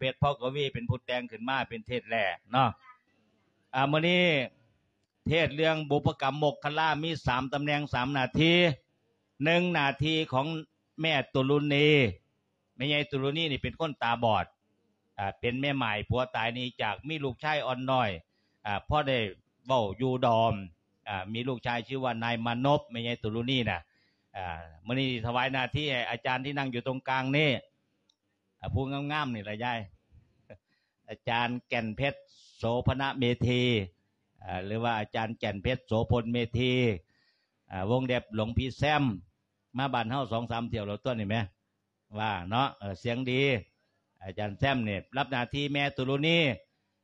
ພດ ເພາະກະວີເປັນຜູ້ແຕ່ງຂຶ້ນມາເປັນເທດແລກເນາະ. ອາ ມື້ນີ້ເທດເລື່ອງບຸບພະກຳມົກຄະລາ ມີສາມຕຳແໜ່ງ ສາມໜ້າທີ່. ໜຶ່ງໜ້າທີ່ຂອງແມ່ຕຸລຸນີ. ແມ່ໃຫຍ່ຕຸລຸນີນີ້ເປັນຄົນຕາບອດ ອາ ເປັນແມ່ໝ້າຍຜົວຕາຍໜີຈາກ ມີລູກຊາຍອ່ອນນ້ອຍ ອາ ພໍໄດ້ເວົ້າຢູ່ດອມ ອາ ມີລູກຊາຍຊື່ວ່ານາຍມານົບ ແມ່ໃຫຍ່ຕຸລຸນີນະ. ອາ ມື້ນີ້ຖວາຍໜ້າທີ່ໃຫ້ອາຈານທີ່ນັ່ງຢູ່ຕົງກາງນີ້ ອາ ຜູ້ງາມໆນີ້ລະຍາຍ ອາຈານແກ່ນເພັດ ໂສພະນະເມທີ ອາ ຫຼືວ່າອາຈານແກ່ນເພັດ ໂສພົນເມທີ ອາ ວົງເລັບ ຫຼວງພີ່ແຊມ ມາບ້ານເຮົາສອງສາມຖ້ຽວແລ້ວຕົວະນີ້ແມ ວ່າເນາະ ເອີ ສຽງດີ. ອາຈານແຊມນີ້ຮັບໜ້າທີ່ແມ່ຕຸລຸນີ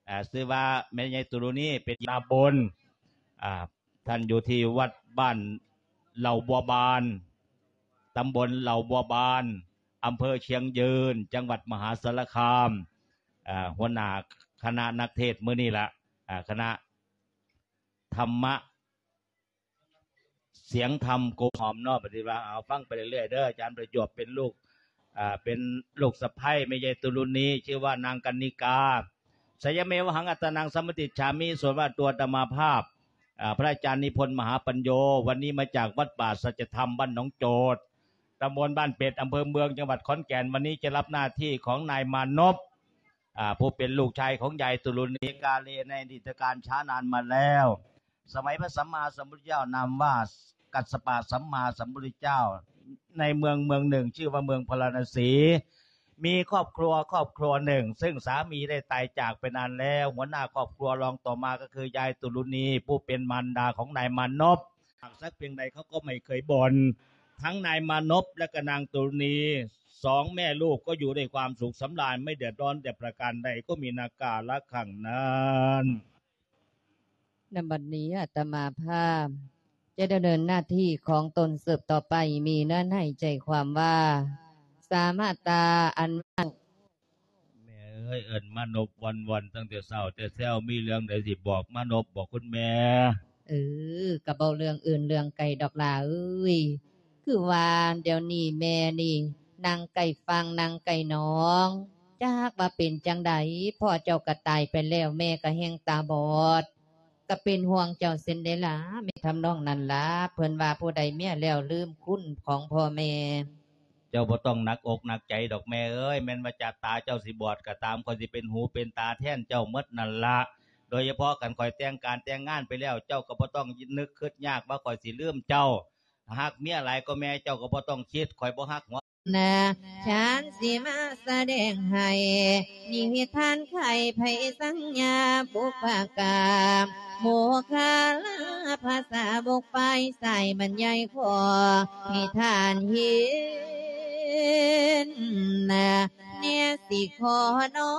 ເອີ ຊື່ວ່າແມ່ໃຫຍ່ຕຸລຸນີ ເປັນຕາບົນ ອາ ທ່ານຢູ່ທີ່ວັດບ້ານເຫຼົ່າບົວບານ ຕຳບົນເຫຼົ່າບົວບານ ອຳເພີຊຽງຢືນ ຈັງຫວັດມະຫາສາລະຄາມ. ອາ ຫົວໜ້າຄະນະນັກເທດມື້ນີ້ລະ ອາ ຄະນະທຳມະ ສຽງທຳກົບຫອມເນາະ ປະຕິວ່າ ເອົາ ຟັງໄປເລື້ອຍໆເດີ. ອາຈານປະຈວບເປັນລູກ ເປັນລູກສະໃພ້ແມ່ໃຫຍ່ຕຸລຸນີ ຊື່ວ່ານາງກັນນິກາ. ສະຍະເມວະຫັງ ອັດຕານັງ ສຳມະຕິດສາມິ ສ່ວນວ່າຕົວອາດຕະມາພາບ ອາ ພະອາຈານນິພົນ ມະຫາປັນໂຍ ວັນນີ້ມາຈາກວັດປ່າສັດຈະທຳ ບ້ານໜອງໂຈດ ຕຳບົນບ້ານເປັດ ອຳເພີເມືອງ ຈັງຫວັດຂອນແກ່ນ. ວັນນີ້ຈະຮັບໜ້າທີ່ຂອງນາຍມານົບ ອາ ຜູ້ເປັນລູກຊາຍຂອງຍາຍຕຸລຸນີ ກາເລໃນອະດີດຕະການຊ້ານານມາແລ້ວ. ສະໄໝພະສຳມາສຳພຸດທະເຈົ້ານາມວ່າກັດສະປະສຳມາສຳພຸດທະເຈົ້າ ໃນເມືອງເມືອງໜຶ່ງ ຊື່ວ່າເມືອງພາລານະສີ ມີຄອບຄົວຄອບຄົວໜຶ່ງ ເຊິ່ງສາມີໄດ້ຕາຍຈາກໄປນານແລ້ວ. ຫົວໜ້າຄອບຄົວລອງຕໍ່ມາກໍຄືຍາຍຕຸລຸນີ ຜູ້ເປັນມານດາຂອງນາຍມານົບ. ຫາກສັກພຽງໃດເຂົາກໍໄມ່ເຄີຍບ່ອນ. ທັງນາຍມານົບ ແລະ ກໍນາງຕຸລຸນີ ສອງແມ່ລູກກໍຢູ່ດ້ວຍຄວາມສຸກສຳລານ ໄມ່ເດືອດຮ້ອນແຕ່ປະການໃດ ກໍມີນາກາລະຄັ້ງນັ້ນ. ນຳບັດນີ້ອາດຕະມາພາບຈະດຳເນີນໜ້າທີ່ຂອງຕົນສືບຕໍ່ໄປ ມີເນື້ອໃນໃຈຄວາມວ່າ ສາມາດຕາອັນ ແມ່ເອີຍ ເອີ້ນມານົບວ່ອນໆ ຕັ້ງແຕ່ເຊົ້າແຕ່ແຊວ ມີເລື່ອງໃດຊິບອກມານົບບໍ ຄຸນແມ່? ເອີ ກະບໍ່ເລື່ອງອື່ນເລື່ອງໄກດອກຫຼ້າເອີຍ ຄືວ່າດຽວນີ້ແມ່ນີ້ນັ່ງໃກ້ຝັ່ງນັ່ງໃກ້ໜອງ ຈັກວ່າເປັນຈັ່ງໃດ ພໍ່ເຈົ້າກະຕາຍໄປແລ້ວ ແມ່ກະແຮ່ງຕາບອດ ກະເປັນຫ່ວງເຈົ້າເຊັ່ນໃດລະ ແມ່ທຳນອງນັ້ນລະ ເພິ່ນວ່າຜູ້ໃດເມຍແລ້ວລືມຄຸນຂອງພໍ່ແມ່. ເຈົ້າບໍ່ຕ້ອງໜັກອົກໜັກໃຈດອກແມ່ເອີຍ ແມ່ນວ່າຈະຕາເຈົ້າຊິບອດກໍຕາມ ຂ້ອຍຊິເປັນຫູເປັນຕາແທນເຈົ້າໝົດນັ້ນລະ ໂດຍສະເພາະຄັນຂ້ອຍແຕ່ງການແຕ່ງງານໄປແລ້ວ ເຈົ້າກໍບໍ່ຕ້ອງນຶກຄຶດຍາກວ່າຂ້ອຍຊິລືມເຈົ້າ ຫາກເມຍຫຼາຍກວ່າແມ່ເຈົ້າກໍບໍ່ຕ້ອງຄິດ ຂ້ອຍບໍ່ຮັກຫົວ ນະ ຈານຊິມາສະແດງໃຫ້ ນິທານໄຂໄພສັງຍາ ບຸບພະກາ ໂມຄາລາພາສາບົກ ຝ່າຍຊາຍບັນຍາຍຂໍໃຫ້ທ່ານເຫັນນະ ແນວຊິຂໍໜໍ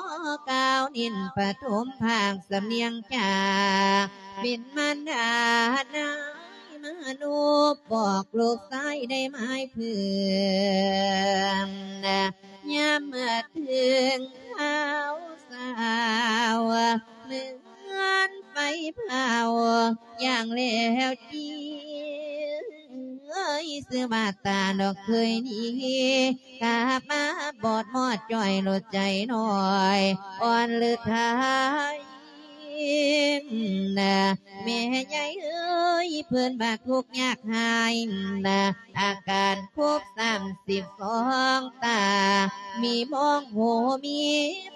ກ່າວນິນປະຖົມພາກສຳນຽງຈາ ເປັນມານດານາຍມະນຸບ ບອກລູກຊາຍໄດ້ໝາຍເພື່ອນ ຍາມເມື່ອເຖິງຄາວສາວ ເມືອນໄຟເຜົາຢ່າງແລ້ວຈີ ເອີຍ ຊື່ວ່າຕາດອກເຄີຍດີ ກະມາບອດມອດຈ່ອຍໂລດໃຈນ້ອຍ ອ່ອນຫຼືໄທນະ ແມ່ໃຫຍ່ເອີຍ ເພິ່ນວ່າທຸກຍາກຮ້າຍນະ ອາການຄົບສາມສິບສອງຕາ ມີມອງຫູມີ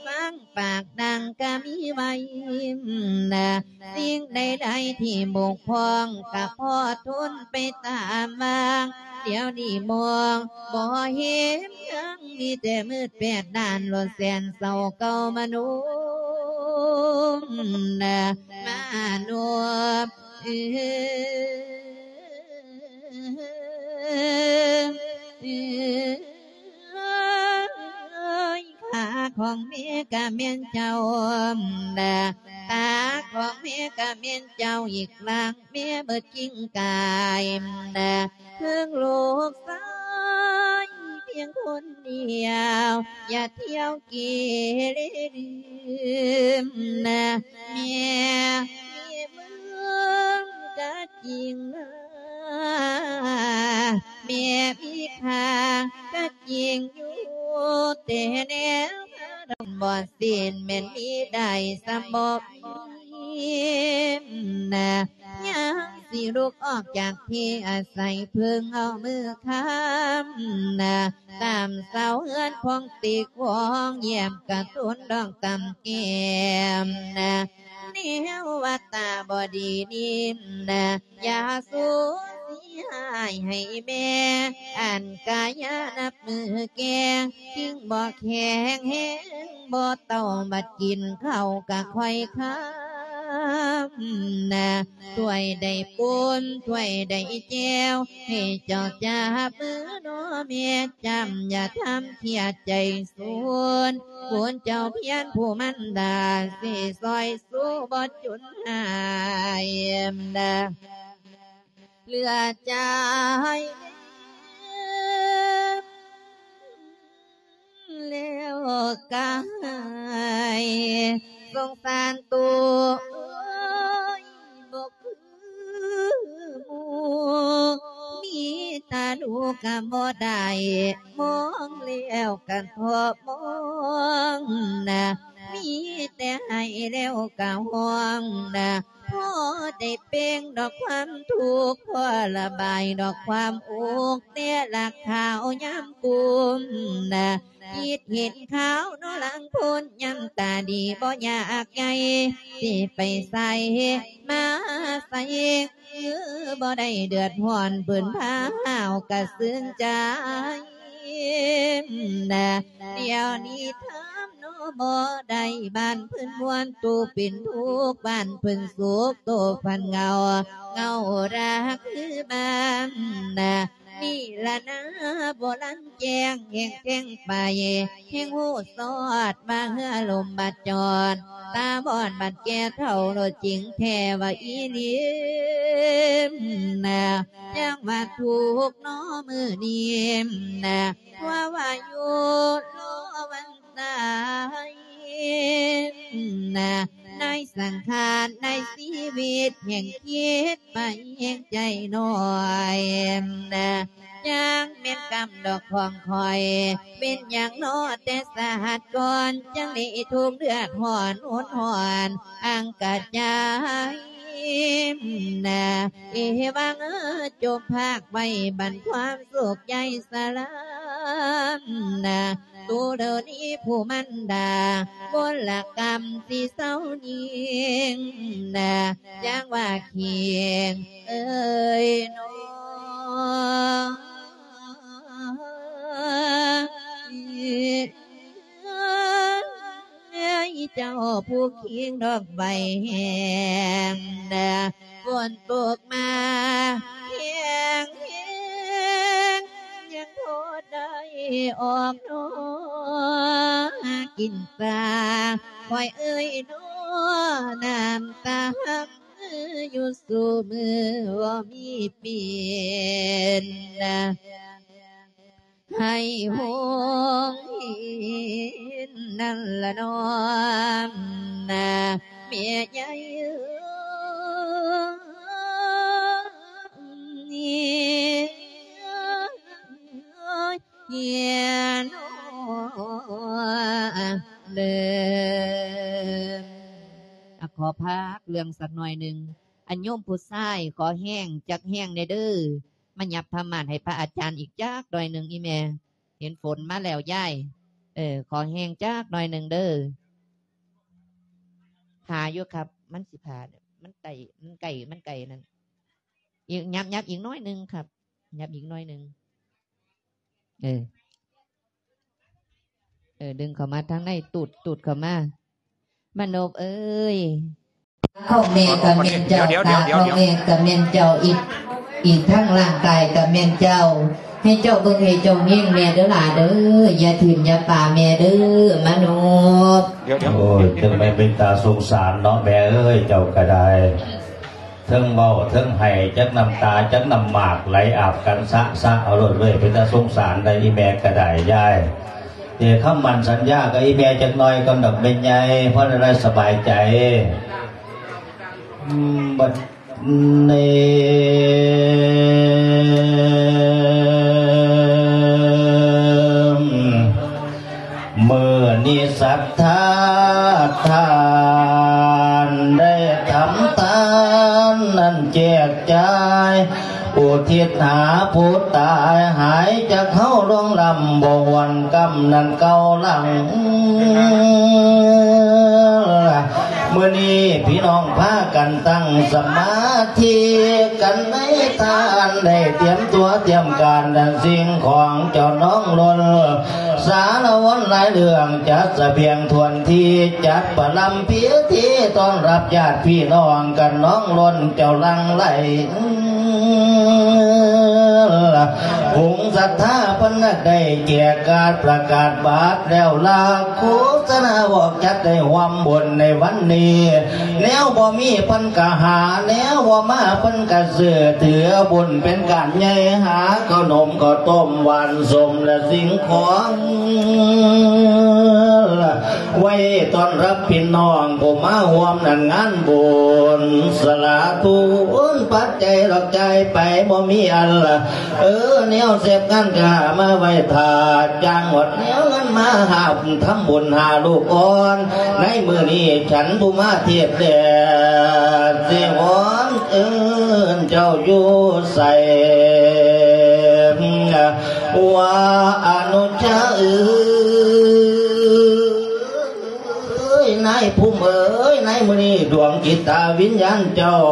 ຟັງ ປາກດັງກະມີໄວ້ນະ ສິ່ງໃດໆທີ່ບົກຜ່ອງກະພໍທົນໄປຕາມວາງ ດຽວນີ້ມອງບໍ່ເຫັນຫຍັງ ມີແຕ່ມືດແປດດ້ານ ໂລດແສນເສົ້າເກົ່າມະນຸບນະ ມະນຸບ ເອີຍ ຂາຂອງແມ່ກະແມ່ນເຈົ້ານະ ຕາຂອງແມ່ກະແມ່ນເຈົ້າ ອີກຮ່າງແມ່ເບິດກິ່ງກາຍນະ ເຖິງລູກຊາຍພຽງຄົນດຽວ ຢ່າທ່ຽວເກເລລືມນະ ແມ່ມີເມືອງກະຈິງນະ ແມ່ມີຄ່າກະຈິງຢູ່ ແຕ່ແນວຄາດອນບ່ອນ ສິ້ນແມ່ນມີໄດ້ສ່ຳບໍ່ມີນະ ຍາມຊິລຸກອອກຈາກທີ່ອາໄສ ເພິ່ງເອົາມືຄ້ຳນະ ຕາມເສົາເຮືອນຂອງຕິກວອງ ຢ້ຽມກະຕຸນດອກຕຳແກ້ມນະ ແນວວ່າຕາບໍ່ດີນີ້ນະ ຢ່າສູ່ຊິຮ້າຍໃຫ້ແມ່ ອັນກາຍະນັບມື້ແກ່ ຈຶ່ງບໍ່ແຂງແຮງ ບໍ່ເຕົາບັດກິນເຂົ້າກະຄ່ອຍຄຳນະ ຖ້ວຍໃດປຸ້ນ ຖ້ວຍໃດແຈ່ວ ໃຫ້ເຈົ້າຈັບມືນໍແມ່ ຈຳຢ່າທຳເຄຍດໃຈສູນ ບຸນເຈົ້າພຽນຜູ້ມັນດາ ຊິຊ່ອຍຊູບໍ່ຈົນຫາຍນະ ເຫຼືອໃຈແລ້ວກະຫາຍ ສົງສານໂຕເອີຍ ບໍ່ຄືໝູ່ ມີຕາດູກະບໍ່ໄດ້ ມອງແລ້ວກະທໍ້ມອງນະ ມີແຕ່ໄຫ້ແລ້ວກະຮ້ອງນະ ພໍໄດ້ເປັ່ງດອກຄວາມທຸກ ພໍລະບາຍດອກຄວາມອຸກ ແຕ່ລະຄາວຍາມກຸ້ມນະ ຄິດເຫັນຂາວເນາະຫຼັງພົ້ນ ຍາມຕາດີບໍ່ຢາກໃຫຍ່ ຊິໄປໃສມາໃສ ຄືບໍ່ໄດ້ເດືອດຮ້ອນ ເພິ່ນພາຫ້າວກະຊື່ນໃຈນະ ດຽວນີ້ຖາມເນາະບໍ່ໄດ້ ບ້ານເພິ່ນມ່ວນ ໂຕເປັນທຸກ ບ້ານເພິ່ນສຸກ ໂຕພັນເຫງົາ ເຫງົາລະຄືບ້ານນະ ນີ້ລະນາ ບໍ່ລັນແຈ້ງແຫ່ງແທງໄປ ແຫ່ງຮູ້ຊອດວ່າເຮືອລົມບາດຈອດ ຕາບອດບາດແກ່ເຖົ້າໂລດຈິງແທ້ວ່າອີຫຼີນະ ຈັ່ງວ່າທຸກເນາະມື້ນີ້ນະ ວ່າວ່າຢູ່ລໍວັນຕາຍນະ ໃນສັງຂານໃນຊີວິດແຫ່ງຄິດໄປແຫ່ງໃຈນ້ອຍນະ ຈັ່ງແມ່ນກຳດອກຂອງຂ້ອຍ ເປັນຫຍັງເນາະແຕ່ຊາດກ່ອນ ຈັ່ງໄດ້ທຸກເດືອດຮ້ອນຮຸນແຮງອັງກະຈາຍນະ ເອວັງເອີຍ ຈົ່ງພາກໄວ້ບັນຄວາມສຸກໃຫຍ່ສະລາມນະ ຕູເດີນີຜູ້ມັນດາ ມົນລະກຳຊິເຊົາຍິງນະ ຢ່າງວ່າຄີງເອີຍເນາະ ເຈົ້າຜູ້ຄີງດອກໄຫວແຮງນະ ຝົນຕົກມາແຮງໆ ຍັງພໍໄດ້ອອກໜໍ່ກິນສາ ຂ້ອຍເອີຍໜໍ່ ນ້ຳຕາຮັກຢູ່ສູ່ມື້ບໍ່ມີປິ່ນນະ ໃຫ້ຫົງເຫັນນັ້ນລະນ້ອມນະ ແມ່ໃຫຍ່ເອີຍ ເອີຍເນາະ ເດີ ອ່ະ ຂໍພັກເລື່ອງສັກໜ້ອຍໜຶ່ງ ອັນໂຍມຜູ້ຊາຍ ຂໍແຮງຈັກແຮງແດ່ເດີ ມາຫຍັບຜ້າມ່ານໃຫ້ພະອາຈານອີກຈັກໜ້ອຍໜຶ່ງ ອີ່ແມ່ ເຫັນຝົນມາແລ້ວຍາຍ ເອີ ຂໍແຮງຈັກໜ້ອຍໜຶ່ງເດີ ຫາຢູ່ຄັບ ມັນຊິຜ່າ ມັນໃກ້ ມັນໃກ້ ມັນໃກ້ນັ້ນ ອີກ ຫຍັບ ຫຍັບອີກໜ້ອຍໜຶ່ງຄັບ ຫຍັບອີກໜ້ອຍໜຶ່ງ ເອີ ເອີ ດຶງເຂົ້າມາທາງໃນ ຕູດ ຕູດເຂົ້າມາ ມະນົບເອີຍ ຂອງແມ່ກະແມ່ນເຈົ້າ ເດຽວໆໆໆ ຕາຂອງແມ່ກະແມ່ນເຈົ້າ ອີກ ອີກທັງຮ່າງກາຍກະແມ່ນເຈົ້າ ໃຫ້ເຈົ້າເບິ່ງໃຫ້ເຈົ້າແຍງແມ່ເດີຫຼ້າເດີ ຢ່າຖິ້ມຢ່າປະແມ່ເດີ ມະນົບ ດຽວໆ ໂອ້ຍ ຈັ່ງແມ່ນເປັນຕາສົງສານເນາະແມ່ເອີຍ ເຈົ້າກະໄດ້ ເທິງເວົ້າເທິງໄຫ້ ຈັກນ້ຳຕາຈັກນ້ຳໝາກໄຫຼອາບກັນຊະຊະເອົາໂລດເວີຍ ເປັນຕາສົງສານໄດ໋ ອີ່ແມ່ກະໄດ້ຍາຍ ເດ ຄຳໝັ້ນສັນຍາກັບອີ່ແມ່ຈັກໜ້ອຍກ່ອນດອກແມ່ໃຫຍ່ ພໍໄດ້ສະບາຍໃຈ ອືມ ບັດນີ້ ມື້ ມີສັດທາທ່ານໄດ້ທຳທານນັ້ນແຈກຈ່າຍ ອຸທິດຫາຜູ້ຕາຍ ຫາຍຈາກເຮົາລ່ວງລ້ຳ ບໍ່ຫວນກຳນັ້ນເກົ່າຫຼັງ. ມື້ນີ້ພີ່ນ້ອງພາກັນຕັ້ງສະມາທິກັນໃນທານ ໄດ້ຕຽມຕົວຕຽມການ ດັ່ງສິ່ງຂອງເຈົ້ານ້ອງລົ້ນ ສາລະວັນຫຼາຍເລື່ອງ ຈັດສະບຽງຖ້ວນທີ່ ຈັດປະລຳພິທີຕ້ອນຮັບຍາດພີ່ນ້ອງກັນ ນ້ອງລົ້ນເຈົ້າຫຼັ່ງໄຫຼ ວົງສັດທາເພິ່ນໄດ້ແຈກກາດປະກາດບັດແລ້ວລະ ໂຄສະນາບອກຈັດໄດ້ຮ່ວມບຸນໃນວັນນີ້ ແນວບໍ່ມີເພິ່ນກະຫາ ແນວບໍ່ມາເພິ່ນກະຊື້ ຖືບຸນເປັນການໃຫຍ່ ຫາເຂົ້າໜົມເຂົ້າຕົ້ມຫວານສົມ ແລະສິ່ງຂອງໄວ້ຕ້ອນຮັບພີ່ນ້ອງຜູ້ມາຮ່ວມໃນງານບຸນ ສະຫຼະທຸນປັດໄຈດອກຈ່າຍໄປບໍ່ມີອັນລະ ເອີ ແນວເສບງານກະມາໄວ້ຖ້າ ຈ້າງໝົດແນວເງິນມາຫາບທຳບຸນຫາລູກອ່ອນ ໃນມື້ນີ້ສັນຜູ້ມາເທດແດ່ ຊິວອນເອີ້ນເຈົ້າຢູ່ໃສ ວ່າອະນຸຊາເອີຍ ນາຍພູມເອີຍ ໃນມື້ນີ້ດວງຈິດຕາວິນຍານເຈົ້າ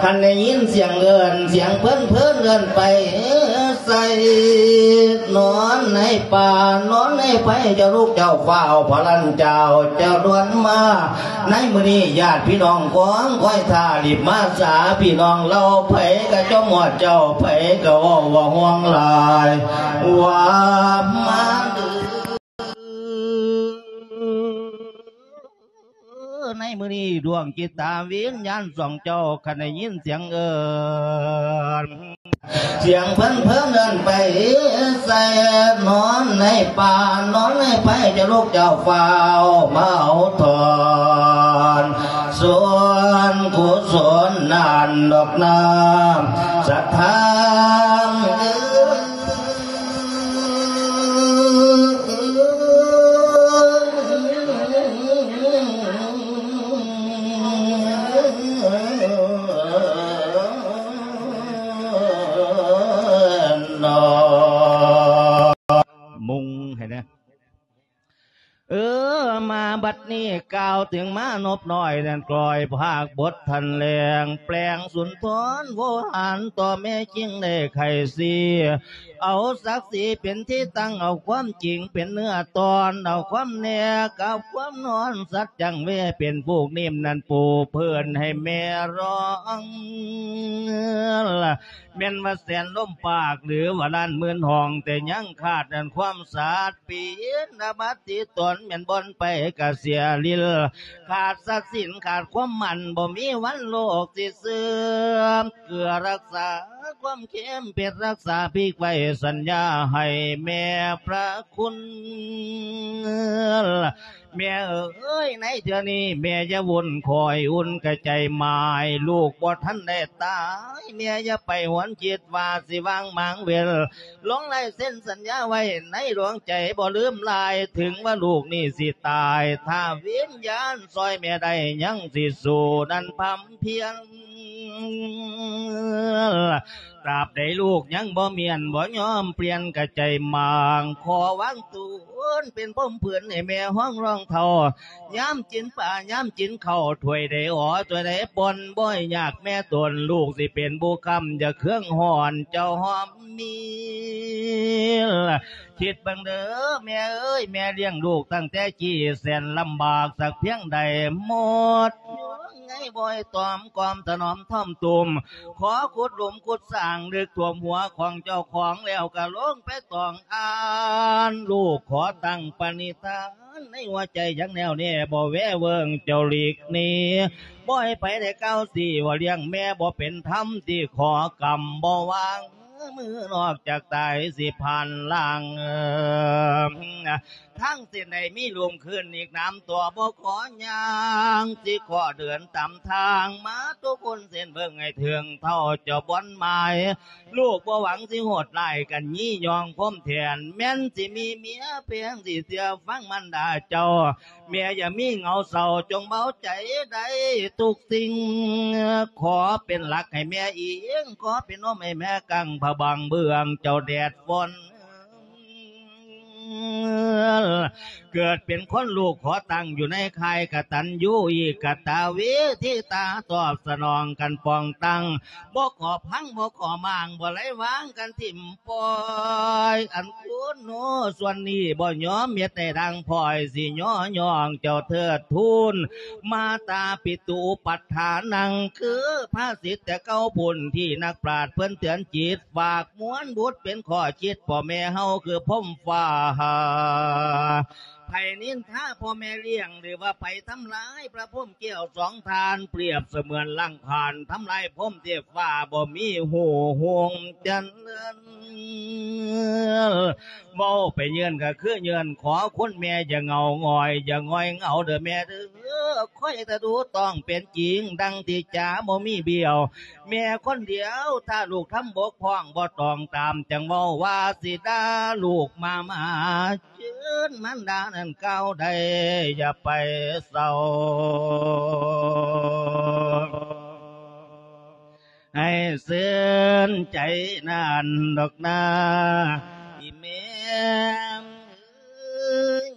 ຄັນໄດ້ຍິນສຽງເອີ້ນ ສຽງເພິ່ນເອີ້ນໄປໃສ ນອນໃນປ່າ ນອນໃນໄພ ເຈົ້າລູກເຈົ້າຟ້າວພະລັນເຈົ້າ ເຈົ້າດ່ວນມາ ໃນມື້ນີ້ຍາດພີ່ນ້ອງກອງຄອຍຖ້າ ລີບມາສາພີ່ນ້ອງເລົ່າ ໃຜກະຈອມຮອດເຈົ້າ ໃຜກະເວົ້າວ່າຫ່ວງຫຼາຍ ວ່າມາເດີ ໃນມື້ນີ້ດວງຈິດຕາວິນຍານສອງເຈົ້າ ຄັນໄດ້ຍິນສຽງເອີ້ນ ສຽງເພິ່ນເອີ້ນໄປໃສ ນອນໃນປ່າ ນອນໃນໄພ ເຈົ້າລູກເຈົ້າຟ້າວມາເອົາຖອນ ສ່ວນກຸສົນນັ້ນດອກນາ ສັດທາເອີຍ ມຸງໃຫ້ແດ່ ເອີ ມາບັດນີ້ກ່າວເຖິງມານົບນ້ອຍນັ້ນ ກ້ອຍພາກບົດທັນແລງ ແປງສຸນທອນໂວຫານ ຕໍ່ແມ່ຈິງໄດ້ໄຂສີ ເອົາສັກສີເປັນທີ່ຕັ້ງ ເອົາຄວາມຈິງເປັນເນື້ອຕອນ ເອົາຄວາມແນກັບຄວາມນອນ ສັດຈັງເວເປັນຜູກນິ້ມນັ້ນປູເພື້ອນໃຫ້ແມ່ຮ້ອງ ແມ່ນວ່າແສນລົມປາກ ຫຼືວ່າລ້ານໝື່ນຫ້ອງ ແຕ່ຍັງຂາດນັ້ນຄວາມສາດ ປີນອາບັດຕິຕົນ ແມ່ນບ່ອນໄປກະເສຍລິນ ຂາດສັດສິນ ຂາດຄວາມໝັ້ນ ບໍ່ມີວັນໂລກຊິເສື່ອມ ເກືອຮັກສາຄວາມເຄັມເຜັດ ຮັກສາພິກໄວ້ສັນຍາໃຫ້ແມ່ພະຄຸນ. ແມ່ເອີຍ ໃນເທື່ອນີ້ແມ່ຢ່າວຸ່ນ ຄອຍອຸ່ນກະໃຈໝາຍ ລູກບໍ່ທັນໄດ້ຕາຍ ແມ່ຢ່າໄປຫວນຄິດວ່າຊິວາງໝາງເວລ ລົງລາຍເຊັນສັນຍາໄວ້ໃນດວງໃຈ ບໍ່ລືມລາຍ ເຖິງວ່າລູກນີ້ຊິຕາຍ ຖ້າວິນຍານຊ່ອຍແມ່ໄດ້ ຍັງຊິສູ້ນັ້ນພຳພຽນ ຕາບໃດລູກຍັງບໍ່ມ້ຽນ ບໍ່ຍອມປ່ຽນກະໃຈໝາງ ຂໍວາງຕູນເປັນພົມຜືນໃຫ້ແມ່ຮອງລອງເທົ້າ ຍາມກິນປາ ຍາມກິນເຂົ້າ ຖ້ວຍໃດອໍ ຖ້ວຍໃດປ່ອນ ບໍ່ໃຫ້ຍາກແມ່ຕົນ ລູກຊິເປັນບຸກຄຳ ຢ່າເຄືອງຮ້ອນ ເຈົ້າຫອມມີ ຄິດເບິ່ງເດີແມ່ເອີຍ ແມ່ລ້ຽງລູກຕັ້ງແຕ່ກີ້ ແສນລຳບາກສັກພຽງໃດ ໝົດ ໃຫ້ບໍ່ໃຫ້ຕອມກອມຖະໜອມທ້ອມຕຸມ ຂໍຂຸດຫຼຸມຂຸດສ້າງ ລຶກຖ້ວມຫົວຂອງເຈົ້າຂອງ ແລ້ວກະລົງໄປຕອງອ່ານ ລູກຂໍຕັ້ງປະນິທານ ໃນຫົວໃຈຢ່າງແນ່ວແນ່ ບໍ່ແວເວີງເຈົ້າຫຼີກໜີ ບໍ່ໃຫ້ໃຜໄດ້ກ່າວຊີ້ວ່າລ້ຽງແມ່ບໍ່ເປັນທຳ ທີ່ຂໍກຳບໍ່ວາງ ມື້ນອກຈາກຕາຍຊິຜ່ານລ່າງ ທາງເສັ້ນໃດມີລຸ່ມຂຶ້ນອີກນຳຕົວ ບໍ່ຂໍຍ່າງ ຊິຂໍເດີນຕາມທາງມາທຸກຄົນ ເສັ້ນເບິ່ງໃຫ້ເຖິງເທົ່າເຈົ້າບ່ອນໝາຍ ລູກບໍ່ຫວັງຊິໂຫດຮ້າຍກັນ ຢີ່ຍ້ອງຄົມແທນ ແມ່ນຊິມີເມຍແພງ ຊິເຊື່ອຟັງມານດາເຈົ້າ ແມ່ຢ່າມີເຫງົາເສົ້າ ຈົ່ງເບົາໃຈໄດ້ທຸກສິ່ງ ຂໍເປັນຫຼັກໃຫ້ແມ່ອີງ ຂໍເປັນຮົ່ມໃຫ້ແມ່ກັ້ງ ພະບັງເບື້ອງເຈົ້າແດດຝົນ ເກີດເປັນຄົນລູກຂໍຕັ້ງຢູ່ໃນຄ້າຍກະຕັນຍູ ອີກກະຕະເວທິຕາ ຕອບສະໜອງກັນປ້ອງຕັ້ງ ບໍ່ຂໍພັງບໍ່ຂໍມ້າງ ບໍ່ໄຫຼວາງກັນຖິ້ມປ່ອຍ ອັນຄຸນໂນສ່ວນນີ້ບໍ່ຍອມເຮັດໃຫ້ທາງພອຍ ຊິຍໍຍ້ອງເຈົ້າເທີດທູນ ມາຕາປິຕຸປັດຖານັງ ຄືພາສິດແຕ່ເກົ່າພຸ້ນ ທີ່ນັກປາດເພິ່ນເຕືອນຈິດ ຝາກມວນບຸດເປັນຂໍ້ຄິດ ພໍ່ແມ່ເຮົາຄືພົມຟ້າ ໃຜນິນທາພໍ່ແມ່ລ້ຽງ ຫຼືວ່າໃຜທຳລາຍພະພົມແກ້ວສອງທ່ານ ປຽບສະເໝືອນລ້າງຜານ ທຳລາຍພົມເທບຟ້າ ບໍ່ມີຮູ້ຮຸ່ງຈະເລີນ ເວົ້າໄປເຍີ້ນກໍຄືເຍີ້ນ ຂໍຄຸນແມ່ຢ່າເຫງົາຫງອຍ ຢ່າຫງອຍເຫງົາເດີແມ່ເດີ ຄອຍຕະດູຕ້ອງເປັນຈິງ ດັ່ງທີ່ຈາບໍ່ມີບ້ຽວ ແມ່ຄົນດຽວ ຖ້າລູກທຳບົກພ້ອງ ບໍ່ຕ້ອງຕາມ ຈັ່ງເວົ້າວ່າຊິດ່າລູກມາມາ ເຊີນມານດານັ້ນກ່າວໄດ້ ຢ່າໄປເສົ້າ ໃຫ້ຊື່ນໃຈນັ້ນດອກນາ ອີ່ແມ່ເອີຍ.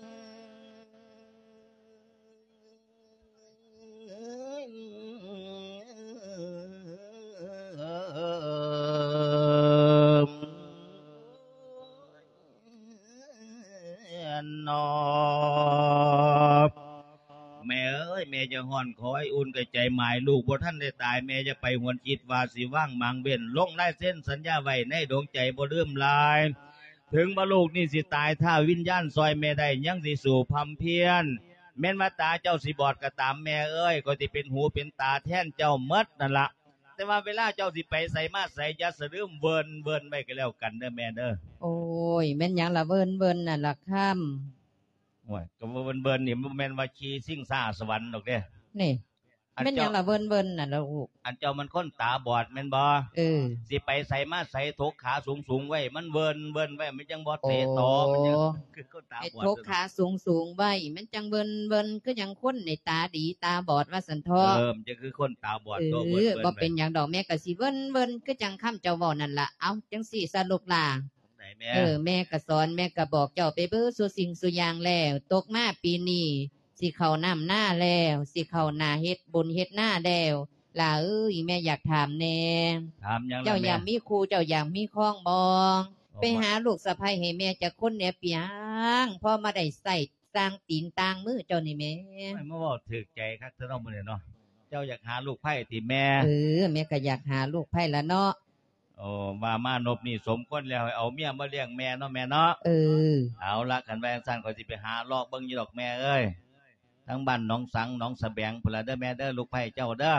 ແມ່ເອີຍ ແມ່ຢ່າຮ້ອນ ຂໍໃຫ້ອຸ່ນກະໃຈໝາຍ ລູກບໍ່ທັນໄດ້ຕາຍ ແມ່ຢ່າໄປຫວນຄິດວ່າຊິວາງໝາງເວັ້ນ ລົງລາຍເຊັນສັນຍາໄວ້ໃນດວງໃຈ ບໍ່ລືມລາຍ ເຖິງວ່າລູກນີ້ຊິຕາຍ ຖ້າວິນຍານຊ່ອຍແມ່ໄດ້ ຍັງຊິສູ້ພຳພຽນ ແມ່ນວ່າຕາເຈົ້າຊິບອດກໍຕາມ ແມ່ເອີຍ ຂ້ອຍຊິເປັນຫູເປັນຕາແທນເຈົ້າໝົດນັ້ນລະ ແຕ່ວ່າເວລາເຈົ້າຊິໄປໃສມາໃສ ຢ່າສະລືມເວີນໆໄວ້ກໍແລ້ວກັນເດີແມ່ເດີ. ໂອ້ຍ ແມ່ນຫຍັງລະເວີນໆນັ້ນລະຄຳ? ໂອ້ຍ ກໍເວີນໆນີ້ ບໍ່ແມ່ນວ່າຂີ່ຊິງຊ້າສະຫວັນດອກເດ້. ນີ້ ອັນ ແມ່ນຫຍັງລະເວີນໆນັ້ນລະລູກ? ອັນເຈົ້າມັນຄົນຕາບອດແມ່ນບໍ່? ເອີ ຊິໄປໃສມາໃສ ຖົກຂາສູງໆໄວ້ ມັນເວີນໆໄວ້ ມັນຈັ່ງບໍ່ເຕະຕໍ່ ໂອ້ ມັນຈັ່ງຄືຄົນຕາບອດ ໄອ້ຖົກຂາສູງໆໄວ້ ມັນຈັ່ງເວີນໆ ຄືຫຍັງຄົນນີ້ຕາດີຕາບອດວ່າຊັ້ນເທາະ. ເອີ ມັນຈັ່ງຄືຄົນຕາບອດ ເອີ ຕົວເວີນໆ ບໍ່ເປັນຫຍັງດອກ ແມ່ກໍຊິເວີນໆ ຄືຈັ່ງຄຳເຈົ້າເວົ້ານັ້ນລະ. ເອົາ ຈັ່ງຊີ້ຊະລູກຫຼ້າ ຈັ່ງໃດແມ່? ເອີ ແມ່ກໍສອນ ແມ່ກໍບອກເຈົ້າໄປເບິດສູ່ສິ່ງສູ່ຢ່າງແລ້ວ ຕົກມາປີນີ້ ຊິເຂົ້ານ້ຳນາແລ້ວ ຊິເຂົ້າໜ້າເຮັດບຸນເຮັດນາແລ້ວ ຫຼ້າເອີຍ ແມ່ຢາກຖາມແດ່. ຖາມຫຍັງລະແມ່? ເຈົ້າຢາກມີຄູ່ ເຈົ້າຢາກມີຄອງບໍ່? ໂອ້ ໄປຫາລູກສະໃພ້ໃຫ້ແມ່ຈັກຄົນແດ່ປຽງ ພໍມາໄດ້ໃຊ້ຕ່າງຕີນຕ່າງມືເຈົ້ານີ້ແມ່. ໂອ້ຍ ມາເວົ້າຖືກໃຈຄັກແທ້ເນາະມື້ນີ້ເນາະ. ເຈົ້າຢາກຫາລູກໃພ້ຕິແມ່? ເອີ ແມ່ກໍຢາກຫາລູກໃພ້ລະເນາະ. ໂອ້ ວ່າມານົບນີ້ສົມຄວນແລ້ວ ໃຫ້ເອົາເມຍມາລ້ຽງແມ່ເນາະແມ່ເນາະ. ເອີ ເອົາລະ ຄັນວ່າຈັ່ງຊັ້ນ ຂ້ອຍຊິໄປຫາລອກເບິ່ງຢູ່ດອກແມ່ເອີຍ ທາງບ້ານໜອງສັງ ໜອງສະແບງພຸ້ນລະເດີແມ່ເດີ ລູກໃພ້ເຈົ້າເດີ.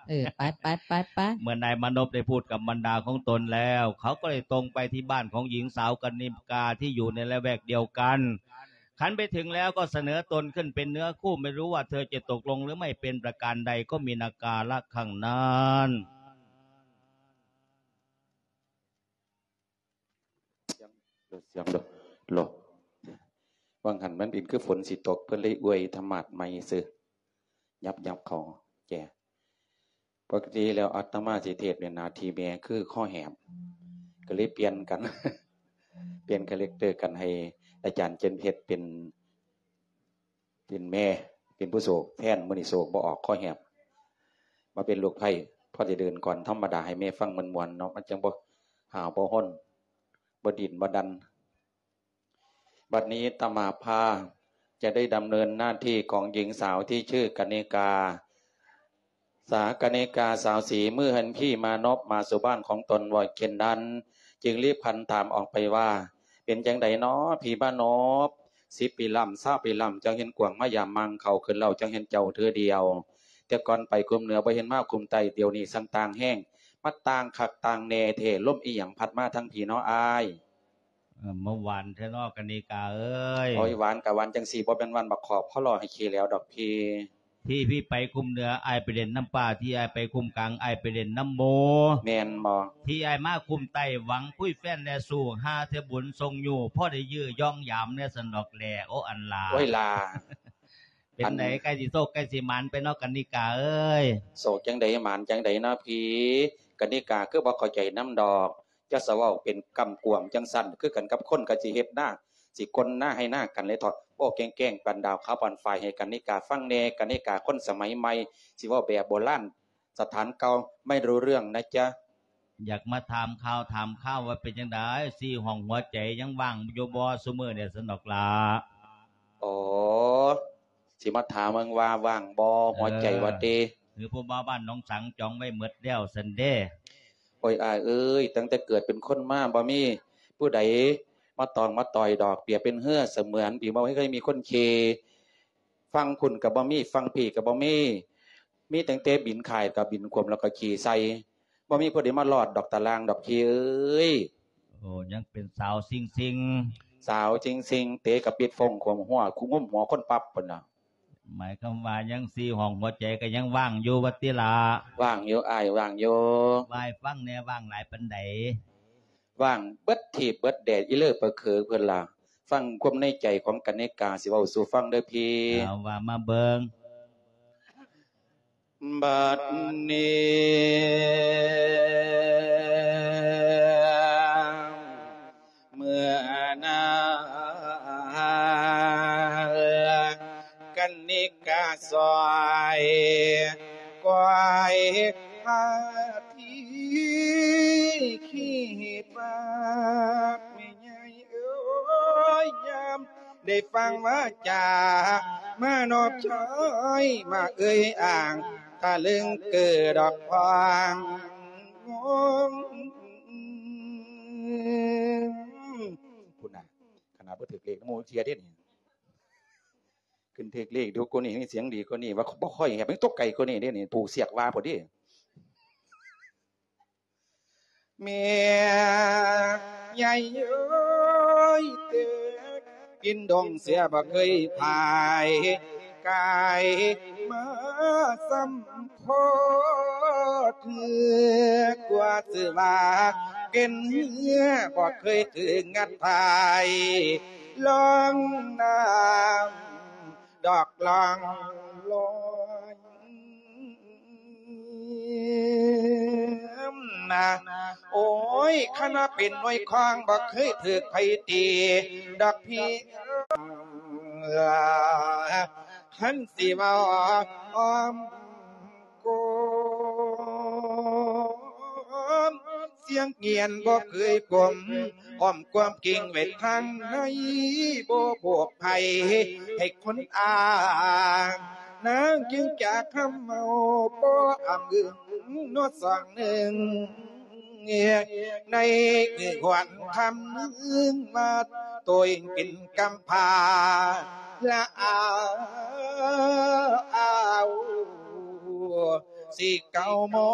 ເອີ ໄປໆໆໆ. ເມື່ອນາຍມານົບໄດ້ພູດກັບບັນດາຂອງຕົນແລ້ວ ເຂົາກໍໄດ້ຕົງໄປທີ່ບ້ານຂອງຍິງສາວກະນິກາທີ່ຢູ່ໃນລະແວກດຽວກັນ. ຄັນໄປເຖິງແລ້ວກໍສະເໜີຕົນຂຶ້ນເປັນເນື້ອຄູ່ ໄມ່ຮູ້ວ່າເທີຈະຕົກລົງຫຼືໄມ່ເປັນປະການໃດ ກໍມີນາກາລະຄັ້ງນັ້ນ. ສຽງ ສຽງ ໂລ ໂລ ວ່າງຫັ້ນມັນເປັນຄືຝົນຊິຕົກ ເພິ່ນເລີຍອວຍທຳມາດໃໝ່ຊື່ ຍັບໆເຂົ້າແຈ. ປົກກະຕິແລ້ວອາດຕະມາຊິເທດເປັນໜ້າທີ່ແມ່ຄືຄໍແຫບ ກໍເລີຍປ່ຽນກັນ ປ່ຽນຄາແຣັກເຕີກັນ ໃຫ້ອາຈານເຈັນເພັດເປັນ ເປັນແມ່ ເປັນຜູ້ໂສກແທນ. ມື້ນີ້ໂສກບໍ່ອອກ ຄໍແຫບ ມາເປັນລູກໃພ້ ພໍໄດ້ເດີນກ່ອນທຳມະດາໃຫ້ແມ່ຟັງມ່ວນໆເນາະ ມັນຈັ່ງບໍ່ຫ້າວບໍ່ຮົນ ບໍ່ດີ້ນບໍ່ດັນ. ບັດນີ້ຕະມາພາຈະໄດ້ດຳເນີນໜ້າທີ່ຂອງຍິງສາວທີ່ຊື່ກະນິກາ ສາກະນິກາສາວສີ ມື້ຫັ້ນພີ່ມານົບມາສູ່ບ້ານຂອງຕົນບໍ່ເຊັ່ນນັ້ນ ຈຶ່ງລີບຫັນຖາມອອກໄປວ່າ ເປັນຈັ່ງໃດນໍພີ່ມານົບ ສິບປີລ້ຳ ຊາວປີລ້ຳ ຈັ່ງເຫັນກວາງມາຢາມມາງເຂົ້າຂຶ້ນເຫຼົ່າ ຈັ່ງເຫັນເຈົ້າເທື່ອດຽວ ແຕ່ກ່ອນໄປຄຸ້ມເໜືອບໍ່ເຫັນມາຄຸ້ມໃຕ້ ດຽວນີ້ຊ່າງຕ່າງແຮງ ມາຕ່າງຄັກຕ່າງແນ່ແທ້ ລົມອີ່ຫຍັງພັດມາທາງພີ້ນໍອ້າຍ? ມາຫວານແທ້ເນາະ ກະນິກາເອີຍ. ໂອ້ຍ ຫວານກະຫວານຈັ່ງຊີ້ ບໍ່ແມ່ນຫວານບັກຂອບ ເຂົາຫຼໍ່ໃຫ້ຂີ້ແຫຼວດອກພີ່. ທີ່ພີ່ໄປຄຸ້ມເໜືອ ອ້າຍໄປຫຼິ້ນນຳປ່າ, ທີ່ອ້າຍໄປຄຸ້ມກາງ ອ້າຍໄປຫຼິ້ນນຳໝູ່. ແມ່ນບໍ່? ທີ່ອ້າຍມາຄຸ້ມໃຕ້ ຫວັງຄຸຍແຟນແລະຊູ້ ຫາເທື່ອບຸນສົ່ງຢູ່ ພໍໄດ້ຢື້ຢອງຢາມແດ່ຊັ້ນດອກແລ. ໂອ້ ອັນລາ. ໂອ້ຍລາ. ເປັນໃດ ອັນ ໃກ້ຊິໂຊກໃກ້ຊິໝານໄປເນາະ ກະນິກາເອີຍ. ໂຊກຈັ່ງໃດໝານຈັ່ງໃດເນາະພີ່. ກະນິກາຄືບໍ່ເຂົ້າໃຈນຳດອກ. ຈະສະເວົ້າເປັນກຳກວມຈັ່ງຊັ້ນ ຄືກັນກັບຄົນກະຊິເຮັດນາ ຊິກົນນາໄຮ່ນາກັນເລີຍເທາະ. ເວົ້າແກ້ງໆ ປັນດາວຂາວປານຝ້າຍໃຫ້ກະນິກາຟັງແດ່. ກະນິກາຄົນສະໄໝໃໝ່ ຊິເວົ້າແບບໂບລານ ສະຖານເກົ່າ ໄມ່ຮູ້ເລື່ອງນະຈ໊ະ. ຢາກມາຖາມຂ່າວຖາມຄາວວ່າເປັນຈັ່ງໃດ ສີ່ຫ້ອງຫົວໃຈຍັງວ່າງຢູ່ບໍ່ຊຸມື້ນີ້ຊັ້ນດອກລະ. ອໍ ຊິມາຖາມເບິ່ງວ່າວ່າງບໍ່ ເອີ ຫົວໃຈວ່າຕິ. ຫຼືຜູ້ບ່າວບ້ານໜອງສັງຈອງໄວ້ໝົດແລ້ວຊັ້ນເດ. ໂອ້ຍ ອ້າຍເອີຍ ຕັ້ງແຕ່ເກີດເປັນຄົນມາ ບໍ່ມີຜູ້ໃດມາຕອງມາຕ່ອຍດອກ. ປຽບເປັນເຮືອສະເໝືອນ ທີ່ບໍ່ເຄີຍມີຄົນຂີ່. ຝັ່ງພຸ້ນກະບໍ່ມີ ຝັ່ງພີ້ກະບໍ່ມີ. ມີຕັ້ງແຕ່ບິນຄ້າຍ ກະບິນຂວມ ແລ້ວກະຂີ່ໃສ່. ບໍ່ມີຜູ້ໃດມາລອດດອກຕາລ່າງດອກພີ່ເອີຍ. ໂອ້ ຍັງເປັນສາວຊິງໆ. ສາວຊິງໆ ເຕະກະປິດຟົ້ງຂວມຫົວ ຄຸງງຸ້ມຫົວຄົນປັບພຸ້ນນະ. ໝາຍຄວາມວ່າຍັງສີ່ຫ້ອງຫົວໃຈກະຍັງວ່າງຢູ່ວ່າຕິລະ. ວ່າງຢູ່ອ້າຍ ວ່າງຢູ່. ວ່າໃຫ້ຟັງແດ່ ວ່າງຫຼາຍປານໃດ? ວ່າງເບິດທີບເບິດແດດ ອີເລີປະເຂີເພິ່ນລະ. ຟັງຄວາມໃນໃຈຂອງກະນິກາ ຊິເວົ້າສູ່ຟັງເດີພີ່. ເອົາ ວ່າມາເບິ່ງ. ບັດນີ້ ເມື່ອນານ ກະນິກາຊ່ອຍກວາຍພາທີ ຄິດວ່າແມ່ໃຫຍ່ເອີຍ ຍາມໄດ້ຟັງວາຈາ ມານອບຊອຍ ມາເອີຍອ້າງ ຕະລຶງເກີດດອກພອງ ພຸ້ນນະ ຂະໜາດບໍ່ຖືກເລກນຳໝູ່ເທື່ອເດ້ນີ້. ຂຶ້ນຖືກເລກດູກວ່ານີ້ ມີສຽງດີກວ່ານີ້ ວ່າບໍ່ຄ່ອຍແຫບ ຍັງຕົກໄກກວ່ານີ້ເດ້ນີ້ ຜູກສຽກວ່າພຸ້ນເດ້. ແມ່ໃຫຍ່ເອີຍ ແຕ່ກິນດົງເສຍບໍ່ເຄີຍພາຍ ກາຍມາສ່ຳພໍເທື່ອ ກວ່າຊື່ວ່າເປັນເຮືອ ບໍ່ເຄີຍຖືກງັດພາຍ ລ່ອງນ້ຳ ດອກລ່ອງລອຍນະ. ໂອ້ຍ ຄັນວ່າເປັນໜ່ວຍຄອງ ບໍ່ເຄີຍຖືກໃຜຕີດອກພີ່ ຄັນຊິເວົ້າອ້ອມ ກົມ ສຽງງຽນບໍ່ເຄີຍກົມ ອ້ອມຄວາມກິ່ງໄວ້ທາງໃນ ບໍ່ບອກໃຜໃຫ້ຄົນອ້າງ ນາງຈຶ່ງຈະຄຳເມົາ ບໍ່ອຳອຶງນວດສອງໜຶ່ງ ໃນຄືຫວນຄຳໜຶ່ງວ່າ ໂຕເອງເປັນກຳພ້າ ລະອາວ ອາວ ຊິເກົ້າມອ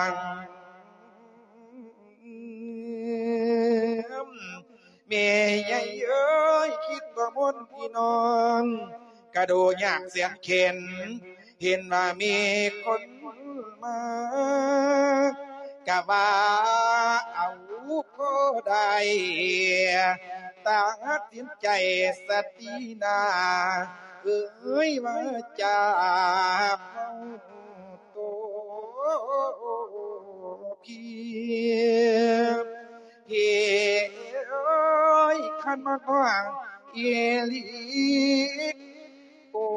ງ ແມ່ໃຫຍ່ເອີຍ ຄິດບໍ່ມົນພີ່ນ້ອງ ກະດູຍາກແສນເຂັນ ເຫັນວ່າມີຄົນມາ ກະວ່າເອົາພໍໄດ້ ຕັດສິນໃຈສະຕີນາ ເອີຍວ່າຈາເຮົາ ໂຕພີ່ ພີ່ເອີຍ ຄັນມາຮ້ອງອີ່ຫຼີ ໂອ້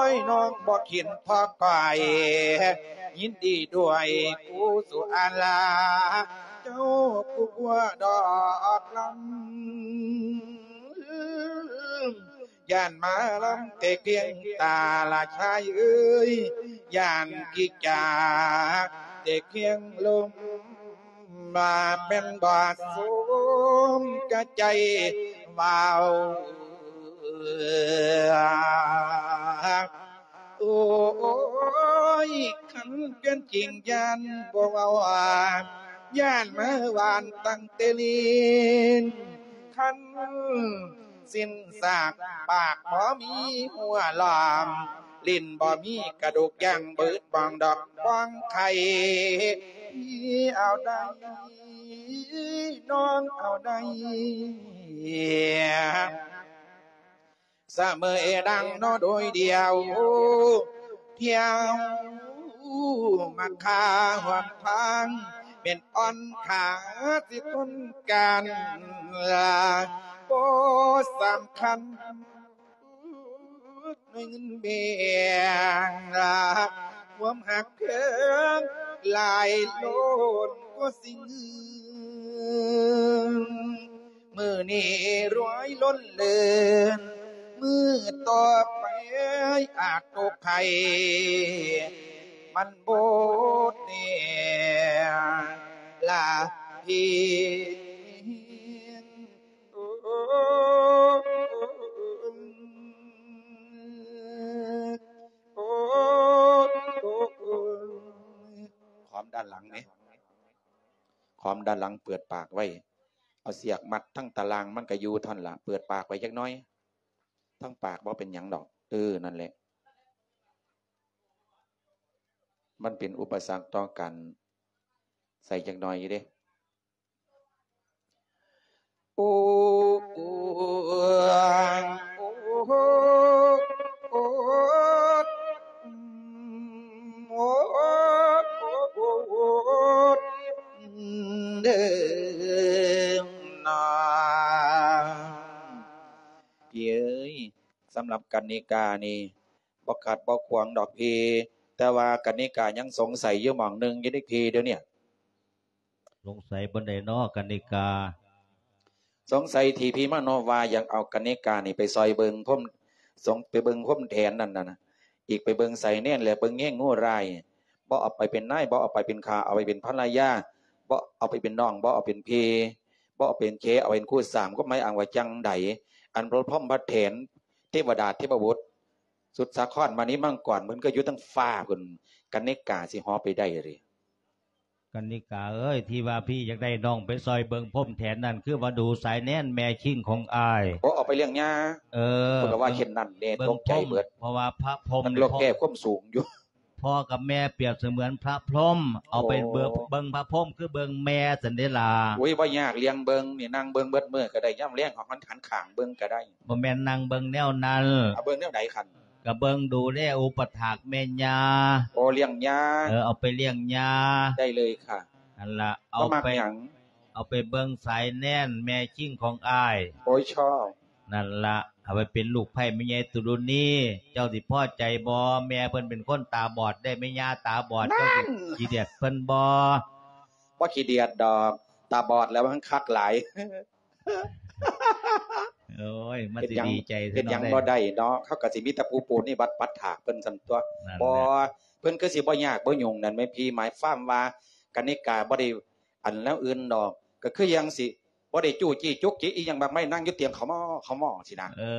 ຍ ນ້ອງບໍ່ເຫັນພໍກອຍ ຍິນດີດ້ວຍກູສຸອາລາ ເຈົ້າຜູ້ບົວດອກລຳ ຢ້ານມາລຳແຕ່ພຽງຕາລະຊາຍເອີຍ ຢ້ານກິກຈາແຕ່ພຽງລົມ ວ່າແມ່ນບໍ່ສົມກະໃຈເວົ້າ ໂອ້ຍ ຄັນເປັນຈິງຢ້ານບໍ່ເວົ້າ ຢ້ານມາຫວານຕັ້ງແຕ່ລີ້ນ ຄັນ ສິ້ນຊາກປາກບໍ່ມີຫົວລ້ອມ ຫຼິ້ນບໍ່ມີກະດູກຢ່າງ ເບີດບອງດອກບອງໄຂ່ ເອົາໄດ້ ນ້ອງເອົາໄດ້ ສະເໝີດັ່ງເນາະໂດຍດຽວ ທ່ຽວມາຄາຮ່ວມທາງ ແມ່ນອ່ອນຂາຊິຄົນການ ບໍ່ສຳຄັນ ເງິນແບ່ງ ຄວາມຮັກເພິ່ນຫຼາຍລົ້ນກວ່າສິ່ງອື່ນ ມື້ນີ້ລວຍລົ້ນເລີນ ມື້ຕໍ່ໄປອາດຕົກໄຂ່ ມັນບໍ່ແນ່ລະພີ່ ຄວາມດ້ານຫຼັງເດ້ ຄວາມດ້ານຫຼັງເປີດປາກໄວ້ ເອົາສຽກມັດທັງຕາລ່າງ ມັນກະຢູ່ທ່ອນລະ ເປີດປາກໄວ້ຈັກໜ້ອຍ ທັງປາກບໍ່ເປັນຫຍັງດອກ ເອີ ນັ້ນແຫຼະ ມັນເປັນອຸປະສັກຕໍ່ການໃສ່ຈັກໜ້ອຍຢູ່ເດ້. ໂອ້ ໂອ້ ໂອ້ ໂອ້ ໂອ້ ເດີນາ ພີ່ເອີຍ ສຳລັບກັນນິການີ້ ບໍ່ຂັດບໍ່ຂວາງດອກພີ່ ແຕ່ວ່າກັນນິກາຍັງສົງໄສຢູ່ໝ່ອງໜຶ່ງຢູ່ເດ້ພີ່ ດຽວນີ້. ສົງໄສບ່ອນໃດນໍກັນນິກາ? ສົງໄສທີ່ພີ່ມະໂນວ່າຢາກເອົາກັນນິການີ້ໄປຊ່ອຍເບິ່ງພົມ ສົງ ໄປເບິ່ງພົມແຖນນັ້ນນະ ອີກໄປເບິ່ງສາຍແນນ ແລະ ເບິ່ງແຍງງູລາຍ ບໍ່ເອົາໄປເປັນນາຍ ບໍ່ເອົາໄປເປັນຂ້າ ເອົາໄປເປັນພັນລະຍາ ບໍ່ເອົາໄປເປັນນ້ອງ ບໍ່ເອົາເປັນພີ່ ບໍ່ເອົາເປັນເຂຍ ເອົາເປັນຄູ່ສາມ ຄວາມໝາຍອ້າງວ່າຈັ່ງໃດ? ອັນພະພົມພະແຖນ ເທວະດາເທວະບຸດ ສຸດສາຄອນມະນີມັງກອນ ເພິ່ນກໍຢູ່ເທິງຟ້າພຸ້ນ ກັນນິກາຊິເຫາະໄປໄດ້ເດ? ກັນນິກາເອີຍ ທີ່ວ່າພີ່ຢາກໄດ້ນ້ອງໄປຊ່ອຍເບິ່ງພົມແຖນນັ້ນ ຄືວ່າດູສາຍແນນແມ່ຄີງຂອງອ້າຍ. ໂອ້ ເອົາໄປລ້ຽງຍ່າ. ເອີ ເພິ່ນກໍວ່າເຊັ່ນນັ້ນແດ່ ຕົກໃຈເບິດ ເພາະວ່າພະພົມ ມັນລົກແກ້ຄວາມສູງຢູ່. ພໍ່ກັບແມ່ປຽບສະເໝືອນພະພົມ ເອົາໄປເບິ່ງ ໂອ້ ເບິ່ງພະພົມຄືເບິ່ງແມ່ຊັ້ນເດລະ. ໂອ້ຍ ບໍ່ຍາກ ລ້ຽງເບິ່ງນີ້ ນັ່ງເບິ່ງເບິດມື້ກໍໄດ້ ຍາມແລງເຮົາຫັນຂ້າງເບິ່ງກໍໄດ້. ບໍ່ແມ່ນນັ່ງເບິ່ງແນວນັ້ນ. ເອົາເບິ່ງແນວໃດຄັນ? ກະເບິ່ງດູແລອຸປະຖາກແມ່ຍ່າ. ໂອ້ ລ້ຽງຍ່າ. ເອີ ເອົາໄປລ້ຽງຍ່າ. ໄດ້ເລີຍຄ່ະ. ຫັ້ນລະ ເອົາໄປ ເອົາໄປເບິ່ງສາຍແນນແມ່ຄີງຂອງອ້າຍ. ໂອ້ຍ ຊອບ. ນັ້ນລະ ເອົາໄປເປັນລູກໃພ້ແມ່ໃຫຍ່ຕຸລຸນີ. ເຈົ້າຊິພໍໃຈບໍ່? ແມ່ເພິ່ນເປັນຄົນຕາບອດເດ້ ແມ່ຍ່າຕາບອດ. ນັ້ນ ເຈົ້າຊິຂີ້ດຽດເພິ່ນບໍ່? ບໍ່ຂີ້ດຽດດອກ ຕາບອດແລ້ວມັນຄັກຫຼາຍ. ໂອ້ຍ ມັນຊິດີໃຈ ເຮັດຫຍັງ ເຮັດຫຍັງບໍ່ໄດ້ເນາະ. ເຮົາກໍຊິມີແຕ່ຜູ້ປູນິບັດປັດຖາກເພິ່ນຊັ້ນຕົວະ. ບໍ່ ເພິ່ນຄືຊິບໍ່ຍາກບໍ່ຫຍຸ້ງນັ້ນແມ່ນພີ່. ໝາຍຄວາມວ່າ ກະນິກາບໍ່ໄດ້ອັນແນວອື່ນດອກ ກໍຄືຢ່າງຊິບໍ່ໄດ້ຈູ້ຈີ້ຈຸກຈິກອີ່ຫຍັງມາກມາຍ ນັ່ງຢູ່ຕຽງຂະໝໍ້ຂະໝໍ້ຊີ້ນະ. ເອີ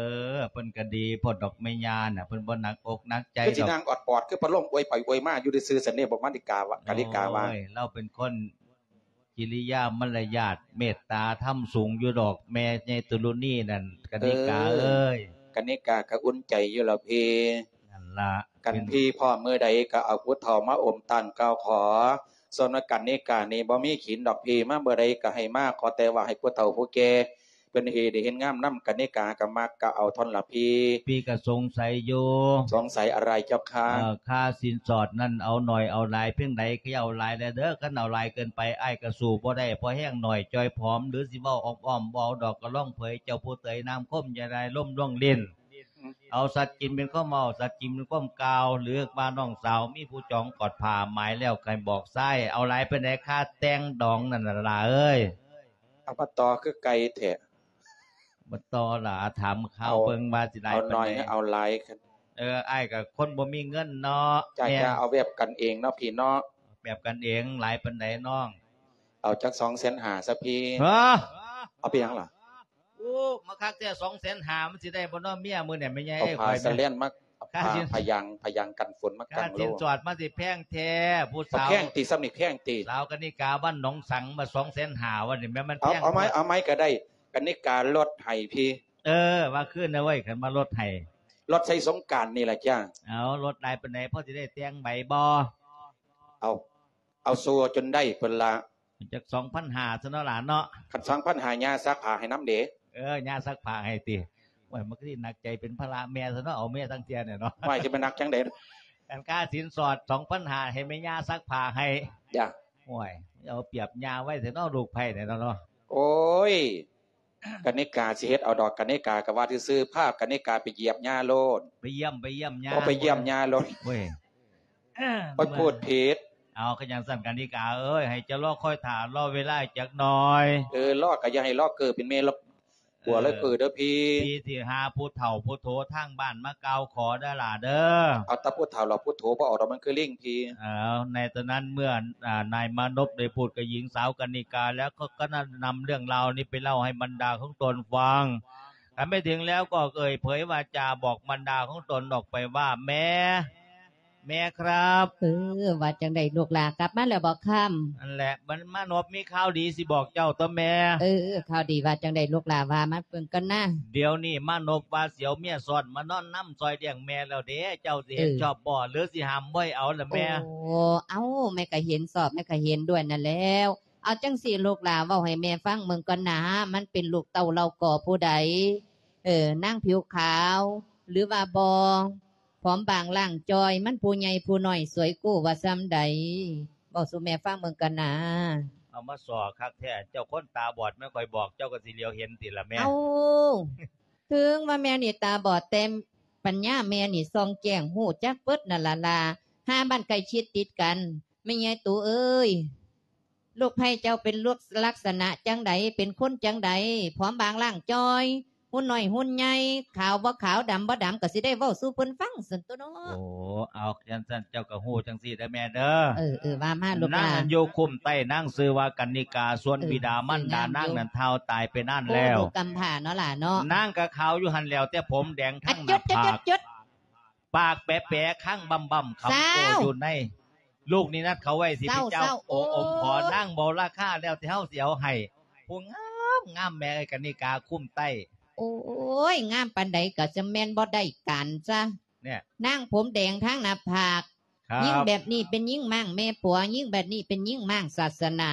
ເພິ່ນກໍດີໂພດດອກແມ່ຍ່ານະ ເພິ່ນບໍ່ໜັກອົກໜັກໃຈດອກ. ຄືຊິນັ່ງອອດປອດ ຄືພັດລົມອວຍໄປອວຍມາຢູ່ຊື່ໆຊັ້ນເດ ບໍ່ມາລິກາວະ ກະນິກາວ່າ. ໂອ້ຍ ລາວເປັນຄົນ ກິລິຍາມາລະຍາດເມດຕາທຳສູງຢູ່ດອກ ແມ່ໃຫຍ່ຕຸລຸນີນັ້ນ ກະນິກາເອີຍ. ກະນິກາກໍອຸ່ນໃຈຢູ່ລະພີ່. ນັ້ນລະ ຄັນພີ່ພ້ອມມື້ໃດກໍເອົາຜູ້ເຖົ້າມາອົມຕານກ່າວຂໍ. ສ່ວນວ່າກະນິການີ້ບໍ່ມີຂີນດອກພີ່ ມາເມື່ອໃດກໍໃຫ້ມາ ຂໍແຕ່ວ່າໃຫ້ຜູ້ເຖົ້າຜູ້ແກ່ເພິ່ນເຮັດດີເຮັດງາມນຳ. ກະນິກາກໍມັກກໍເອົາເທົ່ານັ້ນລະພີ່. ພີ່ກໍສົງໄສຢູ່. ສົງໄສອະໄລເຈົ້າຄະ? ເອີ ຄ່າສິນສອດນັ້ນເອົາໜ້ອຍເອົາຫຼາຍພຽງໃດ ກໍຢ່າເອົາຫຼາຍແດ່ເດີ. ຄັນເອົາຫຼາຍເກີນໄປ ອ້າຍກໍສູ້ບໍ່ໄດ້. ພໍແຮງໜ້ອຍຈ່ອຍຜອມ ຫຼືຊິເວົ້າອ້ອມໆ ບໍ່ເອົາດອກ ກໍລອງເຜີຍເຈົ້າຜູ້ເຕີຍນາມຄົມ ຢ່າໄດ້ລົມລ່ວງຫຼິ້ນ. ເອົາສັດຈິງເປັນຄວາມເວົ້າ ສັດຈິງເປັນຄວາມກ່າວ ຫຼືວ່ານ້ອງສາວມີຜູ້ຈອງກອດຜ້າໝາຍແລ້ວ ໃຫ້ບອກຊາຍ. ເອົາຫຼາຍປານໃດຄ່າແຕ່ງດອງນັ້ນລະຫຼ້າເອີຍ? ເອົາມາຕໍ່ຄືໄກ່ແທ້. ບໍ່ຕໍ່ລະ ຖາມຂ່າວເບິ່ງວ່າຊິຫຼາຍປານໃດ ເອົາໜ້ອຍເອົາຫຼາຍ. ເອີ ອ້າຍກໍຄົນບໍ່ມີເງິນເນາະ. ຈ້າ ແມ່ນ ຈ້າ ເອົາແບບກັນເອງເນາະພີ່ເນາະ. ແບບກັນເອງ ຫຼາຍປານໃດນ້ອງ? ເອົາຈັກສອງແສນຫ້າຊະພີ່. ຮະ? ເອົາໄປຫຍັງລະ? ໂອ້ ມາຄັກແທ້ ສອງແສນຫ້າ ມັນຊິໄດ້ບໍ່ເນາະເມຍມື້ນີ້ແມ່ໃຫຍ່. ເອົາຜ້າສະແລນມາ ຜ້າ ຜ້າ ຜ້າຢາງ ຜ້າຢາງກັນຝົນມາກັ້ງໂລ. ຄ່າສິນສອດມັນຊິແພງແທ້ ຜູ້ສາວ ແພງຕິ ສ່ຳນີ້ແພງຕິ? ສາວກະນິກາວັນໜອງສັງ ມາສອງແສນຫ້າ ວັນນີ້ແມ່ນມັນແພງ. ເອົາ ເອົາໄມ້ ເອົາໄມ້ກໍໄດ້. ກັນນິກາລົດໃຫ້ພີ່. ເອີ ວ່າຄືນນະເວີຍ ຄັນວ່າລົດໃຫ້ ລົດໃສ່ສົງການນີ້ລະຈ້າ. ເອົາ ລົດຫຼາຍປານໃດ ພໍຊິໄດ້ແຕ່ງໃບບໍ່? ເອົາ ເອົາສູ່ຈົນໄດ້ພຸ້ນລະ. ຈັກສອງພັນຫ້າຊະເນາະຫຼານເນາະ. ຄັນສອງພັນຫ້າ ຍ່າຊັກຜ້າໃຫ້ນຳເດ. ເອີ ຍ່າຊັກຜ້າໃຫ້ຕິ. ໂອ້ຍ ມັນຄືຊິໜັກໃຈເປັນພາລະແມ່ຊະເນາະ ເອົາແມ່ທັງເທື່ອນີ້ເນາະ. ໂອ້ຍ ຊິໄປໜັກຈັ່ງໃດ? ອັນຄ່າສິນສອດສອງພັນຫ້າ ໃຫ້ແມ່ຍ່າຊັກຜ້າໃຫ້. ຈ້າ. ໂອ້ຍ ເອົາປຽບຍ່າໄວ້ແທ້ເນາະ ລູກໃພ້ນີ້ເນາະ. ໂອ້ຍ ກະນິກາຊິເຮັດເອົາດອກ ກະນິກາກະວ່າຊື່ໆ ພາກະນິກາໄປຢຽບຍ່າໂລດ. ໄປຢ້ຽມ ໄປຢ້ຽມຍ່າ. ໂອ້ ໄປຢ້ຽມຍ່າໂລດ. ໂອ້ຍ ຂ້ອຍພູດຜິດ. ເອົາ ຄັນຈັ່ງຊັ້ນກະນິກາເອີຍ ໃຫ້ເຈົ້າລໍຄອຍຖ້າ ລໍເວລາຈັກໜ່ອຍ. ເອີ ລໍກະຢ່າໃຫ້ລໍເກີເປັນແມ່ ຜົວເລີຍເກີເດີພີ່. ເອີ ພີ່ຊິຫາຜູ້ເຖົ້າຜູ້ໂຖທາງບ້ານມາກ່າວຂໍເດີຫຼ້າເດີ. ເອົາແຕ່ຜູ້ເຖົ້າລະ ຜູ້ໂຖບໍ່ເອົາດອກ ມັນຄືລິງພີ່. ເອົາ ໃນຕອນນັ້ນເມື່ອ ອາ ນາຍມານົບໄດ້ພູດກັບຍິງສາວກະນິກາແລ້ວ ກໍ ກໍນຳເລື່ອງລາວນີ້ໄປເລົ່າໃຫ້ບັນດາຂອງຕົນຟັງ. ຄັນໄປເຖິງແລ້ວກໍເອີ່ຍເຜີຍວາຈາບອກບັນດາຂອງຕົນອອກໄປວ່າ ແມ່ ແມ່ຄັບ. ເອີ ວ່າຈັ່ງໃດລູກຫຼ້າ ກັບມາແລ້ວບໍ່ຄຳ? ນັ້ນແຫຼະ ມັນມານົບມີຂ່າວດີຊິບອກເຈົ້າຕົວະແມ່. ເອີ ຂ່າວດີວ່າຈັ່ງໃດລູກຫຼ້າ ວ່າມາເບິ່ງກ່ອນນະ. ດຽວນີ້ມານົບວ່າຊິເອົາເມຍຊ້ອນມານອນນຳຊ່ອຍລ້ຽງແມ່ແລ້ວເດ້ ເຈົ້າຊິເຫັນ ເອີ ຊອບບໍ່ ຫຼືຊິຫ້າມບໍ່ໃຫ້ເອົາລະແມ່? ໂອ້ ເອົ້າ ແມ່ກະເຫັນຊອບ ແມ່ກະເຫັນດ້ວຍນັ້ນແລ້ວ. ເອົາຈັ່ງຊີ້ລູກຫຼ້າ ເວົ້າໃຫ້ແມ່ຟັງເບິ່ງກ່ອນນະ ມັນເປັນລູກເຕົ້າເຫຼົ່າກໍຜູ້ໃດ? ເອີ ນາງຜິວຂາວ ຫຼືວ່າບໍ່? ຜອມບາງລ່າງຈ່ອຍ ມັນຜູ້ໃຫຍ່ຜູ້ນ້ອຍ ສວຍກູ້ວ່າຊ່ຳໃດ? ເວົ້າສູ່ແມ່ຟັງເບິ່ງກ່ອນນາ. ເອົາມາສໍ້ຄັກແທ້ ເຈົ້າຄົນຕາບອດແມ່ ຂ້ອຍບອກເຈົ້າກໍຊິຫຼຽວເຫັນຕິລະແມ່. ເອົ້າ ເຖິງວ່າແມ່ນີ້ຕາບອດ ແຕ່ປັນຍາແມ່ນີ້ສ່ອງແຈ້ງ ຮູ້ຈັກເບິດນັ້ນລະຫຼ້າ ຫາບ້ານໃກ້ຊິດຕິດກັນ. ແມ່ໃຫຍ່ຕູເອີຍ ລູກໃພ້ເຈົ້າເປັນລູກລັກສະນະຈັ່ງໃດ? ເປັນຄົນຈັ່ງໃດ? ຜອມບາງລ່າງຈ່ອຍ ຫຸ່ນນ້ອຍຫຸ່ນໃຫຍ່ ຂາວບໍ່ຂາວ ດຳບໍ່ດຳ ກໍຊິໄດ້ເວົ້າສູ່ເພິ່ນຟັງຊັ້ນຕົວະເນາະ. ໂອ້ ເອົາ ຈັ່ງຊັ້ນເຈົ້າກໍຮູ້ຈັ່ງຊີ້ເດີແມ່ເດີ. ເອີ ເອີ ວ່າມາລູກຫຼ້າ. ນາງນັ້ນຢູ່ຄຸ້ມໃຕ້ ນາງຊື່ວ່າກັນນິກາ ສ່ວນ ເອີ ບິດາມານດາ ຊື່ນາງຢູ່ ນາງນັ້ນທ້າວຕາຍໄປນານແລ້ວ. ໂອ້ ລູກກຳພ້າເນາະຫຼ້າເນາະ. ນາງກໍຂາວຢູ່ຫັ້ນແຫຼ້ວ ແຕ່ຜົມແດງທັງໜ້າຜາກ. ອະ ຈົດ ປາກແປໆ ຄັງບຳໆ ຄຳໂກ້ຢູ່ໃນ ລູກນິນັດເຂົາໄວ້ຊິເປັນເຈົ້າ. ໂອ້ ອົມຂໍນາງບໍ່ລາຄາແລ້ວ ແຕ່ເຮົາຊິເອົາໃຫ້ຜູ້ງາມໆ ແມ່ເອີຍ ກັນນິກາຄຸ້ມໃຕ້. ໂອ້ຍ ງາມປານໃດກໍຈະແມ່ນບໍ່ໄດ້ການຊະ. ນາງຜົມແດງທັງໜ້າຜາກ. ຍິງແບບນີ້ເປັນຍິງມ້າງແມ່ປົວ ຍິງແບບນີ້ເປັນຍິງມ້າງສາສະໜາ.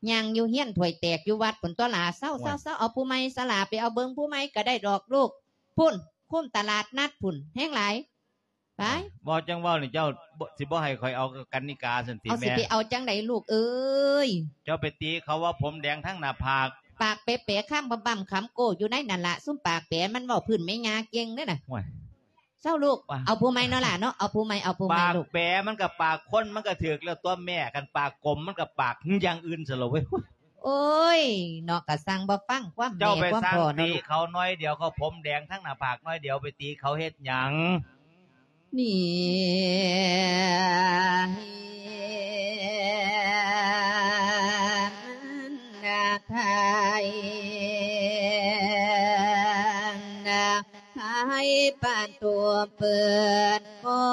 ຍ່າງຢູ່ຮຽນຖ້ວຍແຕກຢູ່ວັດພຸ້ນຕົວະຫຼ້າ. ເຊົາໆໆ ເອົາຜູ້ໃໝ່ຊະຫຼ້າ ໄປເອົາເບິ່ງຜູ້ໃໝ່ກໍໄດ້ດອກລູກ. ພຸ້ນ ຄຸ້ມຕະຫຼາດນັດພຸ້ນ ແຮງຫຼາຍ. ໄປ ເວົ້າຈັ່ງເວົ້ານີ້ ເຈົ້າຊິບໍ່ໃຫ້ຂ້ອຍເອົາກັນນິກາຊັ້ນຕິແມ່? ເອົາ ຊິໄປເອົາຈັ່ງໃດລູກເອີຍ? ເຈົ້າໄປຕີເຂົາວ່າຜົມແດງທັງໜ້າຜາກ ປາກແປໆ ຄ້າງບຳໆ ຄຳໂກ້ຢູ່ໃນນັ້ນລະ. ຊຸມປາກແປມັນເວົ້າພື້ນແມ່ຍ່າເກັ່ງເດ້ນະ. ໂອ້ຍ ເຊົາລູກ ເອົາຜູ້ໃໝ່ເນາະຫຼ້າເນາະ. ເອົາຜູ້ໃໝ່ ເອົາຜູ້ໃໝ່ລູກ. ປາກແປມັນກໍປາກຄົນ ມັນກໍຖືກແລ້ວຕົວະແມ່. ຄັນປາກກົມມັນກໍປາກຢ່າງອື່ນຊັ້ນລະເວີຍ. ໂອ້ຍ ເນາະ ກະຊ່າງບໍ່ຟັງຄວາມແມ່ຄວາມພໍ່ເນາະ. ເຈົ້າໄປສັ່ງຕີເຂົາໜ້ອຍດຽວ ເຂົາຜົມແດງທັງໜ້າຜາກໜ້ອຍດຽວ ໄປຕີເຂົາເຮັດຫຍັງ? ນີ້ ມັນນະໄທ ນະໄທປະຕູເປີດ ຂໍ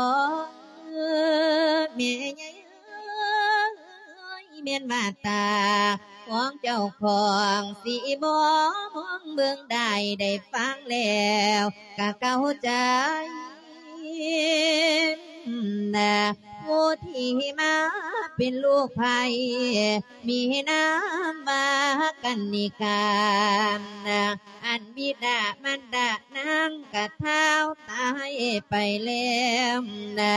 ແມ່ໃຫຍ່ເອີຍ ແມ່ນວ່າຕາຂອງເຈົ້າຂອງ ຊິບໍ່ມອງເບິ່ງໄດ້ ໄດ້ຟັງແລ້ວກະເກົາໃຈນະ. ຜູ້ທີ່ມາເປັນລູກໃຜ ມີນາມວ່າກັນນິກາ ອັນບິດາມານດານາງກະທ້າວຕາຍໄປແລ້ວນະ.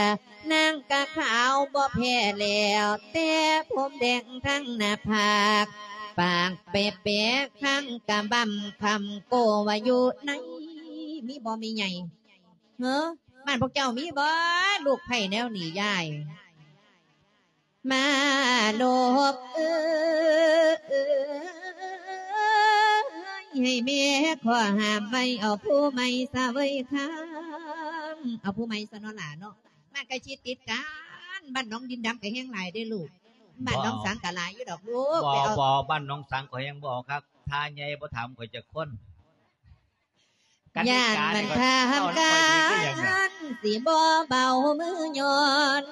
ນາງກະຂາວບໍ່ແພ້ແລ້ວ ແຕ່ຜົມແດງທັງໜ້າຜາກ ປາກແປໆ ຄາງກະບຳຄຳໂກວ່າຢູ່ໃນ. ມີບໍ່ແມ່ໃຫຍ່? ເຮີ ບ້ານພວກເຈົ້າມີບໍ່ ລູກໃຜແນວນີ້ຍາຍ? ມານົບເອີຍ ໃຫ້ແມ່ຂໍຫ້າມໄວ້ ເອົາຜູ້ໃໝ່ຊະເວີຍຄຳ. ເອົາຜູ້ໃໝ່ຊະເນາະຫຼ້າເນາະ. ບ້ານໃກ້ຊິດຕິດກັນ ບ້ານໜອງດິນດຳກໍແຮງຫຼາຍເດ້ລູກ. ບ້ານໜອງສັງກໍຫຼາຍຢູ່ດອກລູກ. ບໍ່ ໄປເອົາ ບໍ່ ບ້ານໜອງສັງຂ້ອຍຍັງບໍ່ເອົາຄັກ ທ່າໃຫຍ່ບໍ່ຖາມຂ້ອຍຈັກຄົນ. ຢ້ານມັນຖາມກັນ ຊິບໍ່ເບົາມືຍ້ອນ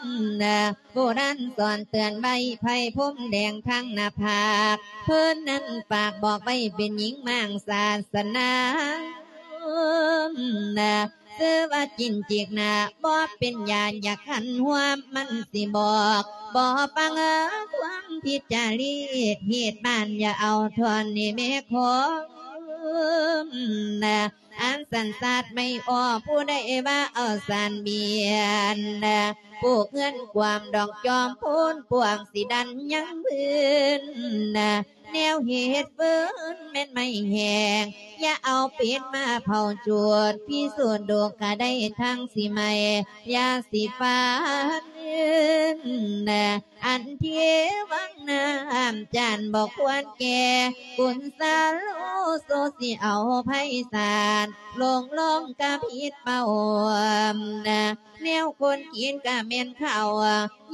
ໂບລານສອນເຕືອນໄວ້ ໄພພົມແດງທາງໜ້າຜາກ ເພິ່ນນັ້ນຝາກບອກໄວ້ ເປັນຍິງມ້າງສາສະໜາ ຊື່ວ່າຈິນຈິກໜ້າ ບໍ່ເປັນຢາຢາກຫັນຮ່ວມ ມັນຊິບອກ ບໍ່ຟັງຄວາມຜິດຈາລີດ ເຮັດບ້ານຢ່າເອົາທ່ອນນີ້ແມ່ຂອງ ອັນສັນຊາດໄມ່ອອກ ຜູ້ໃດວ່າເອົາສານບຽນ ປູກເຮືອນກວາມດອກຈອມໂພນ ພວກຊິດັນຍັງພື້ນ ແນວເຮັດເຟີນແມ່ນໄມ້ແຫ້ງ ຢ່າເອົາເປັນມາເຜົາຈູດ ພິສູດດູກະໄດ້ທັງຊິໄໝ້ ຢ່າຊິຟານ ອັນທີ່ວັງນ້ຳຈານບໍ່ຄວນແກ່ ບຸນສາໂລໂຊຊິເອົາໄພສານ ລົງລອງກະຜິດເປົ້າ ແນວຄົນກິນກະແມ່ນເຂົ້າ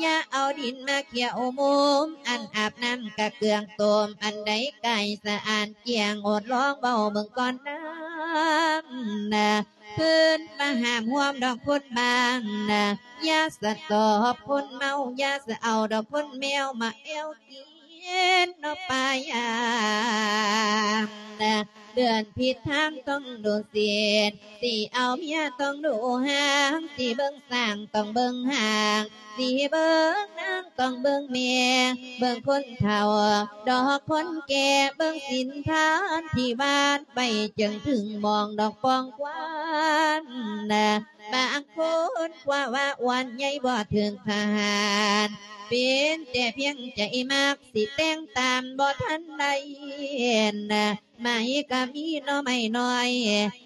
ຢ່າເອົາດິນມາຂຽວມຸມ ອັນອາບນ້ຳກະເກືອງຕົ້ມ ອັນໃດກາຍສະອາດກ້ຽງ ອົດລອງເວົ້າເບິ່ງກ່ອນນາ ເພິ່ນມາຫ້າມຮ່ວມດອກຄົນບ້ານ ຢ່າສະຕອບຄົນເມົາ ຢ່າສະເອົາດອກຄົນແມວ ມາແອວກິນເນາະປາຍາມ ເດືອນຜິດທາງຕ້ອງດູສິດ ຊິເອົາເມຍຕ້ອງດູຫາງ ຊິເບິ່ງຊ້າງຕ້ອງເບິ່ງຫາງ ຊິເບິ່ງນາງຕ້ອງເບິ່ງແມ່ ເບິ່ງຄົນເຖົ້າດອກຄົນແກ່ ເບິ່ງສິນທານທີ່ວາດໄວ້ ຈຶ່ງເຖິງມອງດອກປອງຄວັນ ບາງຄົນກວ່າວ່າອ້ວນໃຫຍ່ບໍ່ເຖິງທະຫານ ເປັນແຕ່ພຽງໃຈມັກ ຊິແຕ່ງຕາມບໍ່ທັນໄດ້ ໄມ້ກະມີໜໍ່ໄມ້ນ້ອຍ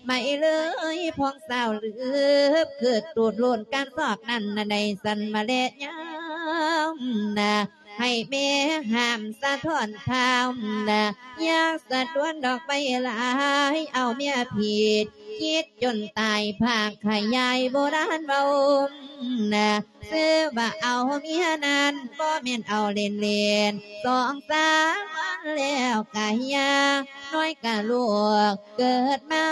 ໄມ້ເລີຍພອງສາວລືບ ຄືຕູດໂລນການຊອກນັ້ນນະ ໄດ້ສັ່ນມາແລຍາມນະ ໃຫ້ແມ່ຫ້າມສະທ້ອນທ້າວນະ ຢ່າສະດວນດອກໄມ້ຫຼາຍ ເອົາເມຍຜິດ ຄິດຈົນຕາຍ ພາກຂະຫຍາຍໂບລານເວົ້ານະ ຊື່ວ່າເອົາເມຍນັ້ນ ບໍ່ແມ່ນເອົາເລ່ນໆ ສອງສາມວັນແລ້ວກະເຮຍ ນ້ອຍກະລູກ ເກີດມາ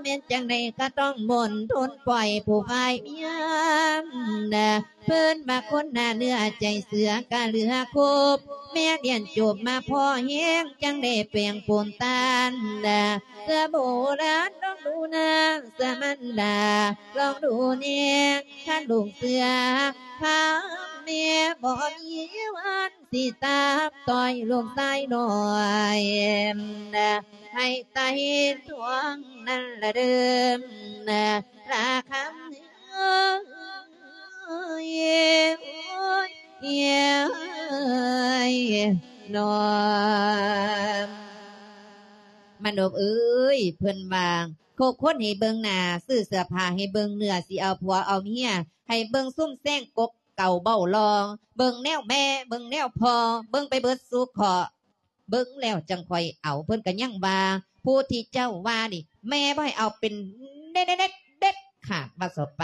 ແມ່ນຈັ່ງໃດກະຕ້ອງມົນທົນ ປ່ອຍຜູ້ຝ່າຍເມຍນະ ເພິ່ນວ່າຄົນໜ້າເນື້ອໃຈເສືອກະເຫຼືອຄົບ ແມ່ນລຽນຈົບມາພໍແຮງ ຈັ່ງໄດ້ແປງໂປນຕານນະ ເສືອໂບລານລອງດູນາ ເສືອມັນດາລອງດູແນ່ ຄັນລູກເສືອ ຖ້າແມ່ບໍ່ມີວັນ ຊິຕາມຕ່ອຍລູກຊາຍນ້ອຍ ໃຫ້ໄຕ່ທວງນັ້ນລະເດີ ລາຄຳເອີຍ ໂອ້ຍ ເອີຍ ນ້ອງ ມະນົບເອີຍ ເພິ່ນວ່າ ຄົບຄົນໃຫ້ເບິ່ງໜ້າ ຊື້ເສື້ອຜ້າໃຫ້ເບິ່ງເນື້ອ ຊິເອົາຜົວເອົາເມຍ ໃຫ້ເບິ່ງຊຸມແຊງກົກເກົ່າເວົ້າລອງ ເບິ່ງແນວແມ່ ເບິ່ງແນວພໍ່ ເບິ່ງໄປເບິດສູ່ເຄາະ ເບິ່ງແລ້ວຈັ່ງຄ່ອຍເອົາ ເພິ່ນກໍຍັງວ່າ ຜູ້ທີ່ເຈົ້າວ່ານີ້ ແມ່ບໍ່ໃຫ້ເອົາເປັນເດັດ ເດັດ ເດັດຂາດ ວ່າຊະໄປ.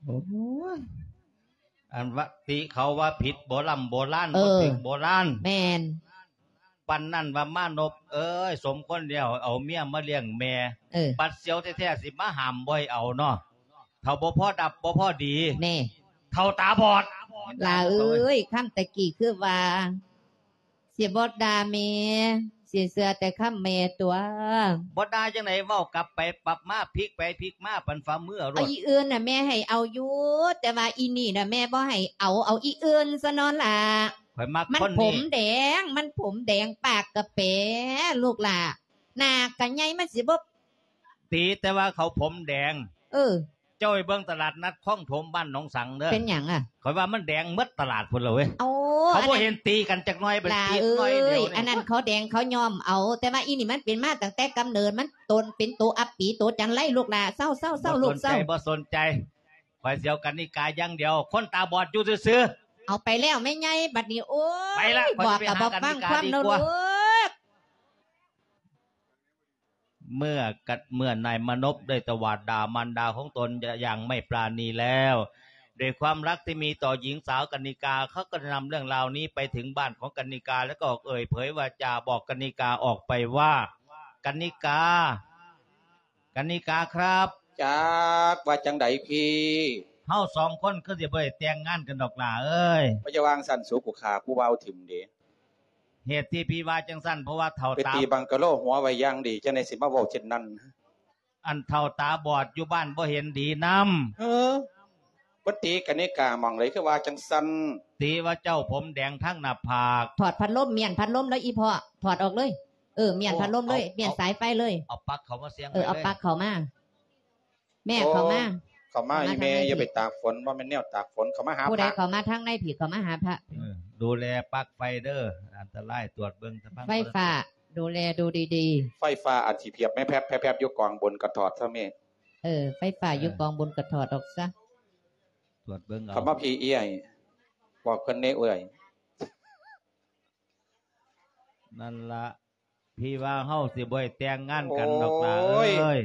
ໂອ້ຍ ອັນວ່າຕິເຂົາວ່າຜິດໂບລຳໂບລານ ເອີ ບໍ່ຖືກໂບລານ ແມ່ນ ປານນັ້ນວ່າ ມານົບເອີຍ ສົມຄວນແລ້ວ ເອົາເມຍມາລ້ຽງແມ່ ເອີ ບັດສຽວແທ້ໆ ຊິມາຫ້າມບໍ່ໃຫ້ເອົາເນາະ ເຖົ້າບໍ່ພໍດັບ ບໍ່ພໍດີ ແນ່ ເຖົ້າຕາບອດ ຫຼ້າເອີຍ ຄຳຕະກີ້ຄືວ່າ ຊິບໍ່ດ່າແມ່ ຊິເຊື່ອແຕ່ຄຳແມ່ຕົວະ. ບໍ່ດ່າຈັ່ງໃດ ເວົ້າກັບໄປປັບມາ ພິກໄປພິກມາ ປັນຝ່າມືເອົາໂລດ. ເອົາອີ່ອື່ນນະ ແມ່ໃຫ້ເອົາຢູ່ ແຕ່ວ່າອີ່ນີ້ນະ ແມ່ບໍ່ໃຫ້ເອົາ ເອົາອີ່ອື່ນຊະເນາະຫຼ້າ. ຂ້ອຍມັກຄົນນີ້ ມັນຜົມແດງ ມັນຜົມແດງ ປາກກະແປ ລູກຫຼ້າ ໜ້າກະໃຫຍ່ ມັນຊິບໍ່ ຕີແຕ່ວ່າເຂົາຜົມແດງ. ເອີ ເຈົ້າໄປເບິ່ງຕະຫຼາດນັດຄອງຖົມບ້ານໜອງສັງເດີ. ເປັນຫຍັງອະ? ຂ້ອຍວ່າມັນແດງໝົດຕະຫຼາດພຸ້ນລະເວີຍ. ໂອ້ ເຂົາບໍ່ເຫັນຕີກັນຈັກໜ້ອຍ ໄປຕີໜ້ອຍດຽວນີ້. ອັນນັ້ນເຂົາແດງເຂົາຍ້ອມເອົາ ແຕ່ວ່າອີ່ນີ້ມັນເປັນມາຕັ້ງແຕ່ກຳເນີດ ມັນຕົນເປັນໂຕອັບປີໂຕຈັນໄລ ລູກຫຼ້າ ເຊົາໆໆ ລູກເຊົາ. ບໍ່ສົນໃຈ ບໍ່ສົນໃຈ ຂ້ອຍຊິເອົາກັນນິກາຢ່າງດຽວ ຄົນຕາບອດຢູ່ຊື່ໆ. ເອົາໄປແລ້ວແມ່ໃຫຍ່ ບັດນີ້ ໂອ້ຍ ໄປລະ ບອກກໍບໍ່ຟັງຄວາມເນາະລູກ. ເມື່ອກັດ ເມື່ອນາຍມານົບໄດ້ຕະຫວາດດ່າມານດາຂອງຕົນຢ່າ ຢ່າງໄມ່ປານີແລ້ວ ດ້ວຍຄວາມລັກທີ່ມີຕໍ່ຍິງສາວກັນນິກາ ເຂົາກໍໄດ້ນຳເລື່ອງລາວນີ້ໄປເຖິງບ້ານຂອງກັນນິກາ ແລ້ວກໍເອີ່ຍເຜີຍວາຈາບອກກັນນິກາອອກໄປວ່າ ກັນນິກາ ກັນນິກາຄັບ ຈັກວ່າຈັ່ງໃດພີ່? ເຮົາສອງຄົນຄືຊິບໍ່ໄດ້ແຕ່ງງານກັນດອກຫຼ້າເອີຍ. ບໍ່ຢ່າວ່າຊັ້ນ ສູກູຂ້າຜູ້ບ່າວຖິ້ມເດ້. ເຫດທີ່ພີ່ວ່າຈັ່ງຊັ້ນ ເພາະວ່າເຖົ້າຕາ ໄປຕີບັງກະໂລຫົວໄວ້ຢ່າງດີ ຈັ່ງໃດຊິມາເວົ້າເຊັ່ນນັ້ນ. ອັນເຖົ້າຕາບອດຢູ່ບ້ານບໍ່ເຫັນດີນຳ. ເອີ ບໍ່ຕີກັນນີ້ກະໝ່ອງໃດຄືວ່າຈັ່ງຊັ້ນ? ຕີວ່າເຈົ້າຜົມແດງທັງໜ້າຜາກ. ຖອດພັດລົມ ມ້ຽນພັດລົມເລີຍອີພໍ່ ຖອດອອກເລີຍ. ເອີ ມ້ຽນພັດລົມເລີຍ ເອົາ ມ້ຽນສາຍໄຟເລີຍ. ເອົາປັກເຂົ້າມາສຽງ ເອີ ເອົາປັກເຂົ້າມາ. ແມ່ເຂົ້າມາ ເຂົ້າມາ ເຂົ້າມາ ອີແມ່ ທາງໃນ ຢ່າໄປຕາກຝົນ ບໍ່ແມ່ນແນວຕາກຝົນ ເຂົ້າມາຫາພະ. ຜູ້ໃດເຂົ້າມາທາງໃນພີ້ ເຂົ້າມາຫາພະ. ເອີ ດູແລປັລັກໄຟເດີ ອັນຕະລາຍ ຕວດເບິ່ງຕະພັງ ໄຟຟ້າ ດູແລດູດີໆ. ໄຟຟ້າອາດຊິພຽບແມ່ແພບໆ ຢູ່ກອງບຸນກະຖອດຊະແມ່. ເອີ ໄຟຟ້າຢູ່ກອງບຸນກະຖອດອອກຊະ. ຕວດເບິ່ງເອົາ. ເຂົ້າມາພີ້ເອື້ອຍ ບອກເພິ່ນແດ່ເອື້ອຍ. ນັ້ນລະ ພີ່ວ່າເຮົາຊິບໍ່ໄດ້ແຕ່ງງານກັນດອກຫຼ້າເອີຍ. ໂອ້ຍ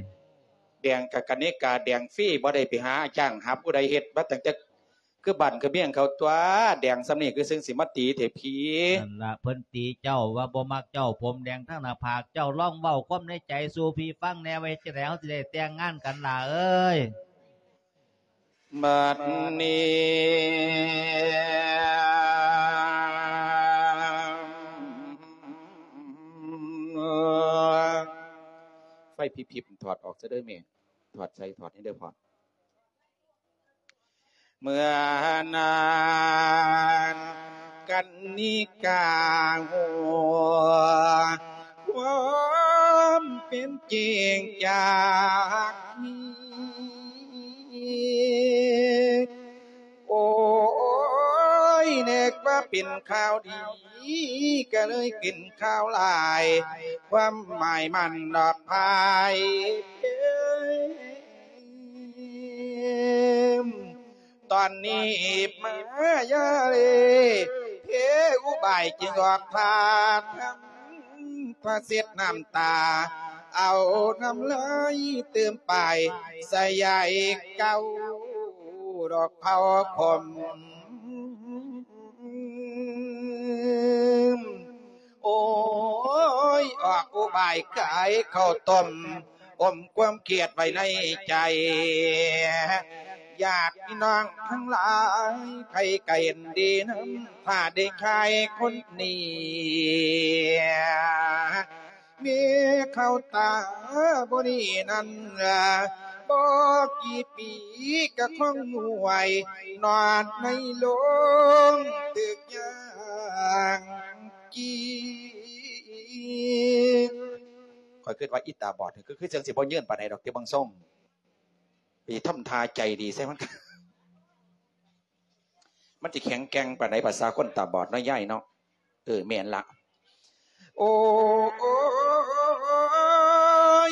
ແດງກະກະນິກາແດງຟຣີ ບໍ່ໄດ້ໄປຫາຈ້າງຫາຜູ້ໃດເຮັດ ມາຕັ້ງແຕ່ຄືບ້ານຄືເມືອງເຂົາຕົວະ ແດງສ່ຳນີ້ຄືເຊິ່ງຊິມາຕີແທ້ພີ້. ນັ້ນລະ ເພິ່ນຕີເຈົ້າວ່າບໍ່ມັກເຈົ້າ ຜົມແດງທັງໜ້າຜາກ. ເຈົ້າລອງເວົ້າຄວາມໃນໃຈສູ່ພີ່ຟັງແດ່ ວ່າເຮັດຈັ່ງໃດເຮົາຊິໄດ້ແຕ່ງງານກັນຫຼ້າເອີຍ. ບັດນີ້ ໄຟພິບໆ ຖອດອອກຊະເດີແມ່ ຖອດໃສ່ຖອດໃຫ້ເດີພໍ່. ເມື່ອນັ້ນກັນນິກາຮູ້ຄວາມເປັນຈິງຈາກນີ້ ໂອ້ຍ ນຶກວ່າເປັນຂ່າວດີ ກະເລີຍຂຶ້ນຂ່າວຮ້າຍ ຄວາມໝາຍມັນດອກພາຍເພມ. ຕອນນີ້ມາຢາເລ ເພອຸບາຍຈຶ່ງອອກທ່າທຳ ພາເຊັດນ້ຳຕາ ເອົານ້ຳລາຍຕື່ມປາຍ ສະຢາຍເກົ້າດອກເຜົາຂົມ. ໂອ້ຍ ອອກອຸບາຍຂາຍເຂົ້າຕົ້ມ ອົມຄວາມຄຽດໄວ້ໃນໃຈ ຍາດພີ່ນ້ອງທັງຫຼາຍ ໃຜກະເຫັນດີນຳ ຖ້າໄດ້ຂາຍຄົນນີ້ ມີເຂົ້າຕາບໍ່ດີນັ້ນ ບໍ່ກີ່ປີກະຄົງໜ່ວຍ ນອນໃນໂລງຕຶກຢ່າງ ກີ້ ຂ້ອຍຄິດວ່າອີຕາບອດນີ້ ຄື ຄືຈັ່ງຊິບໍ່ຍືນປານໃດດອກ ແຕ່ເບິ່ງຊົງ ໄປທຳທ່າໃຈດີໃສ່ມັນ ມັນຊິແຂງແກ່ງປານໃດ ພາສາຄົນຕາບອດເນາະ ຍາຍເນາະ. ເອີ ແມ່ນລະ. ໂອ້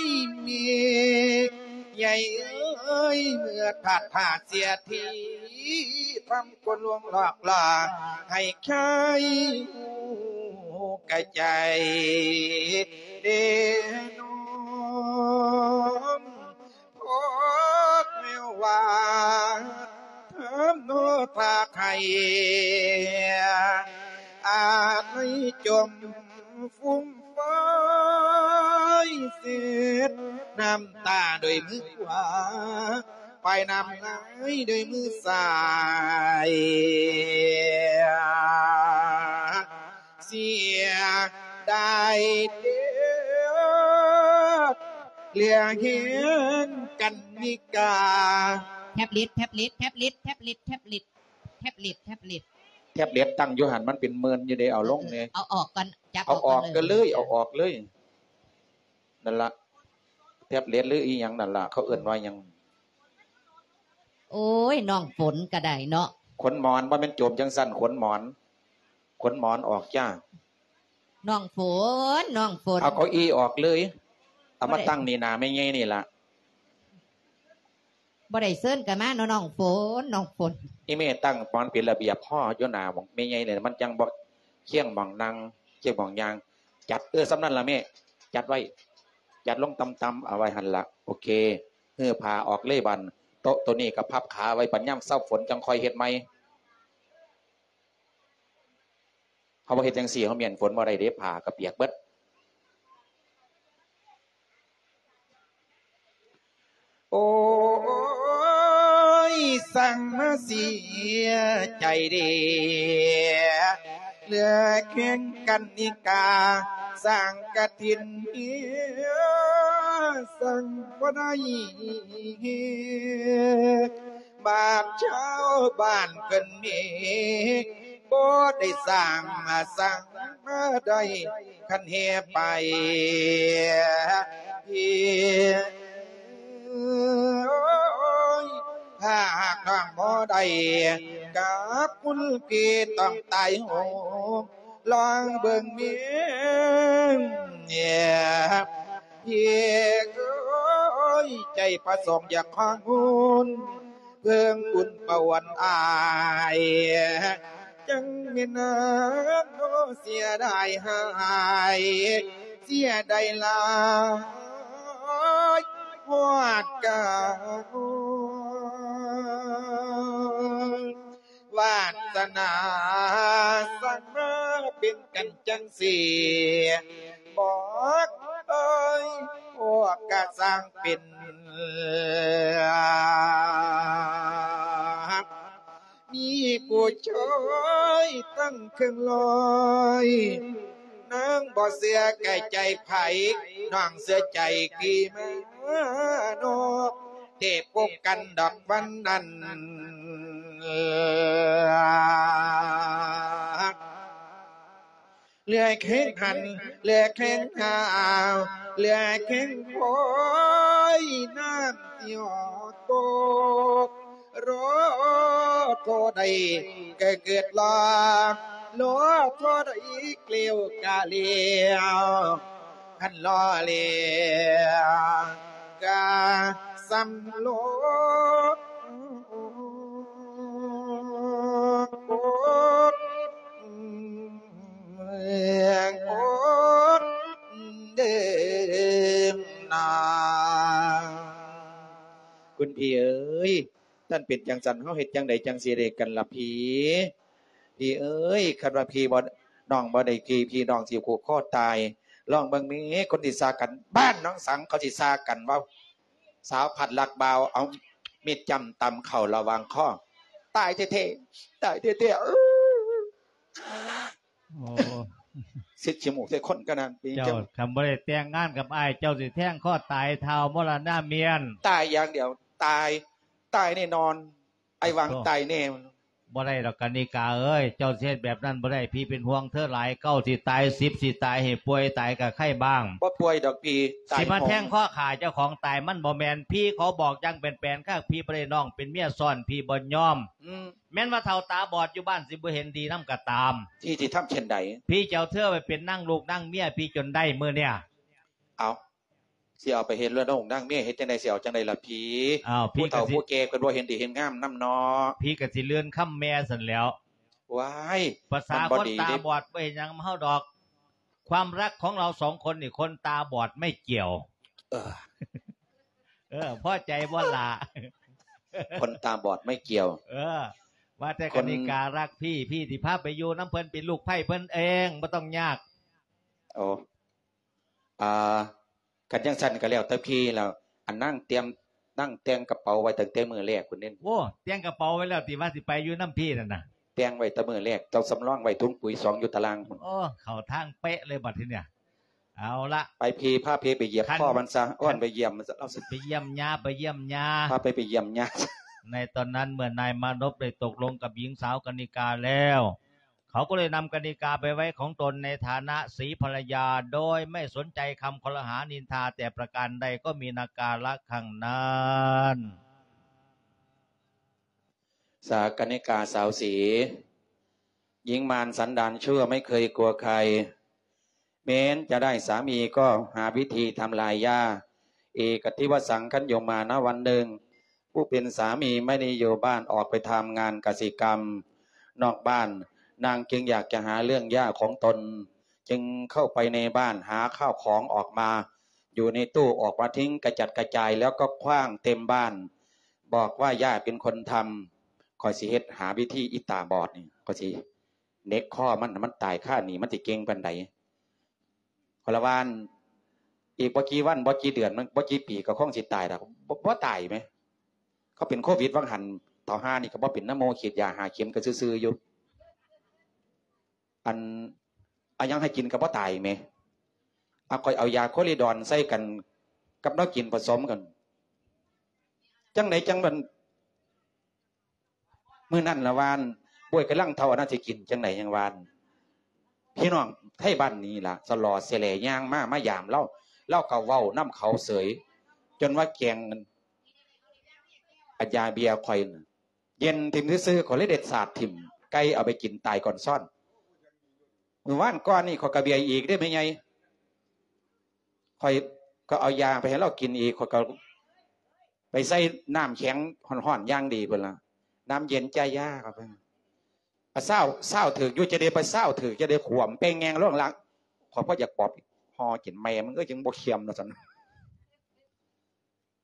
ຍ ແມ່ໃຫຍ່ເອີຍ ເມື່ອພາດພາເສຍທີ ທຳຄົນລວງຫຼອກຫຼອກ ໃຫ້ຄາຍຮູ້ກະໃຈເດນອມ ພອກແນວວ່າ ທຳໂນພາກໃຫ້ ອາໄນຈົມຟຸມຟອຍ ເຊັດນ້ຳຕາດ້ວຍມືຂວາ ປາຍນ້ຳລາຍດ້ວຍມືຊ້າຍ ເສຍດາຍເດ ເຫຼືອແຮງກັນນິກາ. ແທັບເລັດ ແທັບເລັດ ແທັບເລັດ ແທັບເລັດ ແທັບເລັດ ແທັບເລັດ ແທັບເລັດ ແທັບເລັດຕັ້ງຢູ່ຫັ້ນ ມັນເປັນໝື່ນຢູ່ເດ ເອົາລົງແດ່. ເອີ ເອົາອອກກ່ອນ ຈັບ ເອົາອອກ ເອົາອອກກັນເລີຍ ເອົາອອກເລີຍ. ນັ້ນລະ ແທັບເລັດ ຫຼື ອີ່ຫຍັງນັ້ນລະ ເຂົາເອີ້ນວ່າຫຍັງ? ໂອ້ຍ ນ້ອງຝົນກະໄດ້ເນາະ. ຂົນໝອນ ບໍ່ແມ່ນໂຈມຈັ່ງຊັ້ນ ຂົນໝອນ ຂົນໝອນອອກຈ້າ. ນ້ອງຝົນ ນ້ອງຝົນ ເອົາເກົ້າອີ່ອອກເລີຍ ເອົາມາຕັ້ງນີ້ໜ້າແມ່ໃຫຍ່ນີ້ລະ. ບໍ່ໄດ້ເຊີນກະມາເນາະ ນ້ອງຝົນ ນ້ອງຝົນ. ອີ່ແມ່ຕັ້ງໝອນເປັນລະບຽບພໍຢູ່ໜ້າໝ່ອງແມ່ໃຫຍ່ນີ້ ມັນຈັ່ງບໍ່ຄຽງໝ່ອງນັ່ງ ຄຽງໝ່ອງຍ່າງ. ຈັດ ເອີ ສ່ຳນັ້ນລະແມ່ ຈັດໄວ້ ຈັດລົງຕ່ຳໆ ເອົາໄວ້ຫັ້ນລະ. ໂອເຄ ຮື້ຜ້າອອກເລີຍບາດ ໂຕະໂຕນີ້ກະພັບຂາໄວ້ ບັດຍາມເຊົາຝົນຈັ່ງຄ່ອຍເຮັດໃໝ່. ເຮົາບໍ່ເຮັດຈັ່ງຊີ້ ເຮົາມ້ຽນຝົນບໍ່ໄດ້ເດ້ ຜ້າກະປຽກເບິດ. ໂອ້ຍ ຊ່າງມາເສຍໃຈເດ ເຫຼືອແຂງກັນນິກາ ສ້າງກະຖິນເຮ ສ້າງບໍ່ໄດ້ ບາດຊາວບ້ານເພິ່ນເມ ບໍ່ໄດ້ສ້າງ ສ້າງມາໄດ້ ຄັນແຫ່ໄປ ໂອ້ຍ ຖ້າຫາກນ້ອງບໍ່ໄດ້ກັບຄຸນພີ່ ຕ້ອງຕາຍໂຫງ ລອງເບິ່ງແມ່ນ ເອີ ພີ່ເອີຍ ໃຈປະສົງຢາກຂໍງຸນ ເພິ່ງບຸນປະຫວັນອ້າຍ ຈັ່ງແມ່ນນາງ ເສຍດາຍຫຼາຍ ເສຍດາຍຫຼາຍ ຮອດກາ ວາດສະໜາ ສ້າງມາເປັນກັນຈັ່ງຊີ້ ບອກເອີຍ ພວກກະຊ່າງເປັນ ມີຜູ້ຊາຍຕັ້ງເຄິ່ງຮ້ອຍ ນາງບໍ່ເຊື່ອໃກ້ໃຈໃຜ ນ້ອງເຊື່ອໃຈພີ່ມານອກ ໄດ້ພົບກັນດອກວັນນັ້ນ ເຫຼືອແຂງຫັນ ເຫຼືອແຂງຫາວ ເຫຼືອແຂງຄອຍ ນ້ຳຊິອອກຕົກ ລໍທໍ່ໃດກະເກີດລໍ ລໍທໍ່ໃດແລ້ວກະແລ້ວ ຄັນລໍແລ້ວກະສ່ຳໂລດ ໂອດ ໂອດເດີນາ ຄຸນພີ່ເອີຍ ຄັນເປັນຈັ່ງຊັ້ນ ເຮົາເຮັດຈັ່ງໃດຈັ່ງຊິໄດ້ກັນລະພີ່? ພີ່ເອີຍ ຄັນວ່າພີ່ບໍ່ ນ້ອງບໍ່ໄດ້ພີ່ ພີ່ນ້ອງຊິຜູກຄໍຕາຍ. ລອງເບິ່ງແມ້ ຄົນຊິຊາກັນ ບ້ານໜອງສັງເຂົາຊິຊາກັນວ່າ ສາວພັດລັກບ່າວ ເອົາມີດຈ້ຳຕຳເຂົ້າລະຫວ່າງຄໍ ຕາຍແທ້ໆ ຕາຍແທ້ໆ ເອີ ໂອ້ ຊິດຂີ້ມູກໃສ່ຄົນກະນັ້ນຕິ ເຈົ້າ ເຈົ້າ ຄັນບໍ່ໄດ້ແຕ່ງງານກັບອ້າຍ ເຈົ້າຊິແທງຄໍຕາຍທ້າວມໍລະນາມຽນ ຕາຍຢ່າງດຽວ ຕາຍ ຕາຍແນ່ນອນ ອ້າຍຫວັງຕາຍແນ່. ບໍ່ໄດ້ດອກກະນິກາເອີຍ ເຈົ້າຊິເຮັດແບບນັ້ນບໍ່ໄດ້ ພີ່ເປັນຫ່ວງເທີຫຼາຍ ເກົ້າຊິຕາຍ ສິບຊິຕາຍ ໃຫ້ປ່ວຍຕາຍກະໄຄບ້າງ ບໍ່ປ່ວຍດອກພີ່ ຕາຍ ຊິມາແທງຄໍຂ້າເຈົ້າຂອງຕາຍ ມັນບໍ່ແມ່ນ ພີ່ຂໍບອກຢ່າງແປນໆ ຖ້າພີ່ບໍ່ໄດ້ນ້ອງເປັນເມຍຊ້ອນ ພີ່ບໍ່ຍອມ ອືມ ແມ່ນວ່າເຖົ້າຕາບອດຢູ່ບ້ານຊິບໍ່ເຫັນດີນຳກະຕາມ ທີ່ຊິທຳເຊັ່ນໃດ? ພີ່ຈະເອົາເທີໄປເປັນນາງລູກນາງເມຍ ພີ່ຈົນໄດ້ມື້ເນີ້ຍ ເອົາ ຊິເອົາໄປເຮັດເລື່ອນອງນາງເມຍ ເຮັດຈັ່ງໃດ ຊິເອົາຈັ່ງໃດລະພີ່? ອ້າວ ຜູ້ເຖົ້າຜູ້ແກ່ເພິ່ນບໍ່ເຫັນດີເຫັນງາມນຳເນາະ ພີ່ກະຊິເລື່ອນຄຳແມ່ຊັ້ນແລ້ວ ວ້າຍ ປະສາຄົນຕາບອດບໍ່ເຮັດຫຍັງນຳເຮົາດອກ ຄວາມລັກຂອງເຮົາສອງຄົນນີ້ ຄົນຕາບອດໄມ່ກ່ຽວ ເອີ ເອີ ພໍໃຈບໍ່ລະ? ຄົນຕາບອດໄມ່ກ່ຽວ ເອີ ວ່າແຕ່ກະນິກາລັກພີ່ ພີ່ຊິພາໄປຢູ່ນຳເພິ່ນ ເປັນລູກໃພ້ເພິ່ນເອງ ບໍ່ຕ້ອງຍາກ ໂອ້ ອ່າ ຄັນຈັ່ງຊັ້ນກະແລ້ວແຕ່ພີ່ແລ້ວ ອັນນາງຕຽມ ນາງແຕ່ງກະເປົາໄວ້ຕັ້ງແຕ່ມື້ແລກພຸ້ນເດ້ ໂອ້ ແຕ່ງກະເປົາໄວ້ແລ້ວຕິ ວ່າຊິໄປຢູ່ນຳພີ່ນັ້ນນະ ແຕ່ງໄວ້ແຕ່ມື້ແລກ ເຈົ້າສຳລອງໄວ້ຖົງປຸ໋ຍສອງຢູ່ຕາລ່າງພຸ້ນ ໂອ້ ເຂົ້າທາງເປະເລີຍບັດທີເນີ້ຍ ເອົາລະ ໄປພີ່ ພາພີ່ໄປຢຽບຄໍມັນຊະ ເອີ ໄປຢ້ຽມມັນຊະ ເອົາ ໄປຢ້ຽມຍ່າ ໄປຢ້ຽມຍ່າ ພາໄປ ໄປຢ້ຽມຍ່າ ໃນຕອນນັ້ນເມື່ອນາຍມານົບໄດ້ຕົກລົງກັບຍິງສາວກະນິກາແລ້ວ ເຂົາກໍເລີຍນຳກະນິກາໄປໄວ້ຂອງຕົນໃນຖານະສີພັນລະຍາ ໂດຍໄມ່ສົນໃຈຄຳຄໍລະຫານິນທາແຕ່ປະການໃດ ກໍມີນາກາລະຄັ້ງນັ້ນ. ສາກະນິກາສາວສີ หญิงมารสันดานชั่วไม่เคยกลัวใคร แม้จะได้สามีก็หาวิธีทำลายย่า เอกทิวสัง คันโยมานะ วันหนึ่ง ผู้เป็นสามีไม่ได้อยู่บ้าน ออกไปทำงานกสิกรรมนอกบ้าน นางจึงอยากจะหาเรื่องย่าของตน จึงเข้าไปในบ้าน หาข้าวของออกมา อยู่ในตู้ ออกมาทิ้งกระจัดกระจาย แล้วก็ขว้างเต็มบ้าน บอกว่าย่าเป็นคนทำ ข้อยสิเฮ็ดหาวิธีอีตาบอดนี่ ข้อยสิเหน็บคอมัน ให้มันตายคานี่ มันสิเก่งปานใด ข้อยละว่า ອີກບໍ່ກີ່ວັນ ບໍ່ກີ່ເດືອນ ມັນບໍ່ກີ່ປີກໍຄົງຊິຕາຍແລ້ວ. ບໍ່ ບໍ່ຕາຍແໝ. ເຂົາເປັນໂຄວິດຫວ່າງຫັ້ນ ເຖົ້າຫ່ານີ້ກໍບໍ່ເປັນນຳໝໍ ສີດຢາຫ້າເຂັມກໍຊື່ໆຢູ່. ອັນ ເອົາຫຍັງໃຫ້ກິນກໍບໍ່ຕາຍແໝ. ເອົາ ຂ້ອຍເອົາຢາໂຄລິດອນໃສ່ກັນກັບແນວກິນປະສົມກັນ. ຈັ່ງໃດຈັ່ງມັນ ມື້ນັ້ນລະວ່າ ໂອ້ຍ ກຳລັງເຖົ້າ ອັນນັ້ນຊິກິນຈັ່ງໃດ ຍັງວ່າ. ພີ່ນ້ອງໄທບ້ານນີ້ລະ ສະຫຼໍ່ແສແຫຼຍ່າງມາ ມາຢາມລາວ ລາວກໍເວົ້ານຳເຂົາເສີຍ ຈົນວ່າແກງອັນຢາເບຍຂ້ອຍນະ ເຢັນຖິ້ມຊື່ໆ ຂ້ອຍເລີຍໄດ້ສາດຖິ້ມ ໄກ່ເອົາໄປກິນຕາຍກ່ອນຊ້ອນ. ມື້ວານກ່ອນນີ້ຂ້ອຍກໍເບຍອີກເດ້ແມ່ໃຫຍ່ ຂ້ອຍກໍເອົາຢາໄປໃຫ້ລາວກິນອີກ ຂ້ອຍກໍ ໄປໃສ່ນ້ຳແຂງຮ້ອນໆຢ່າງດີພຸ້ນລະ ນ້ຳເຢັນຈາຢາເຂົ້າໄປ. ອາ ຊາວ ຊາວຖືກຢູ່ ຈະໄດ້ໄປຊາວຖືກ ຈະໄດ້ຂວມແປ້ງແງງລົງຫຼັງ. ຂ້ອຍບໍ່ຢາກບອກ ຫໍ່ກິນແມ່ມຶງເອີຍ ຈັ່ງບໍ່ເຄັມວ່າຊັ້ນ.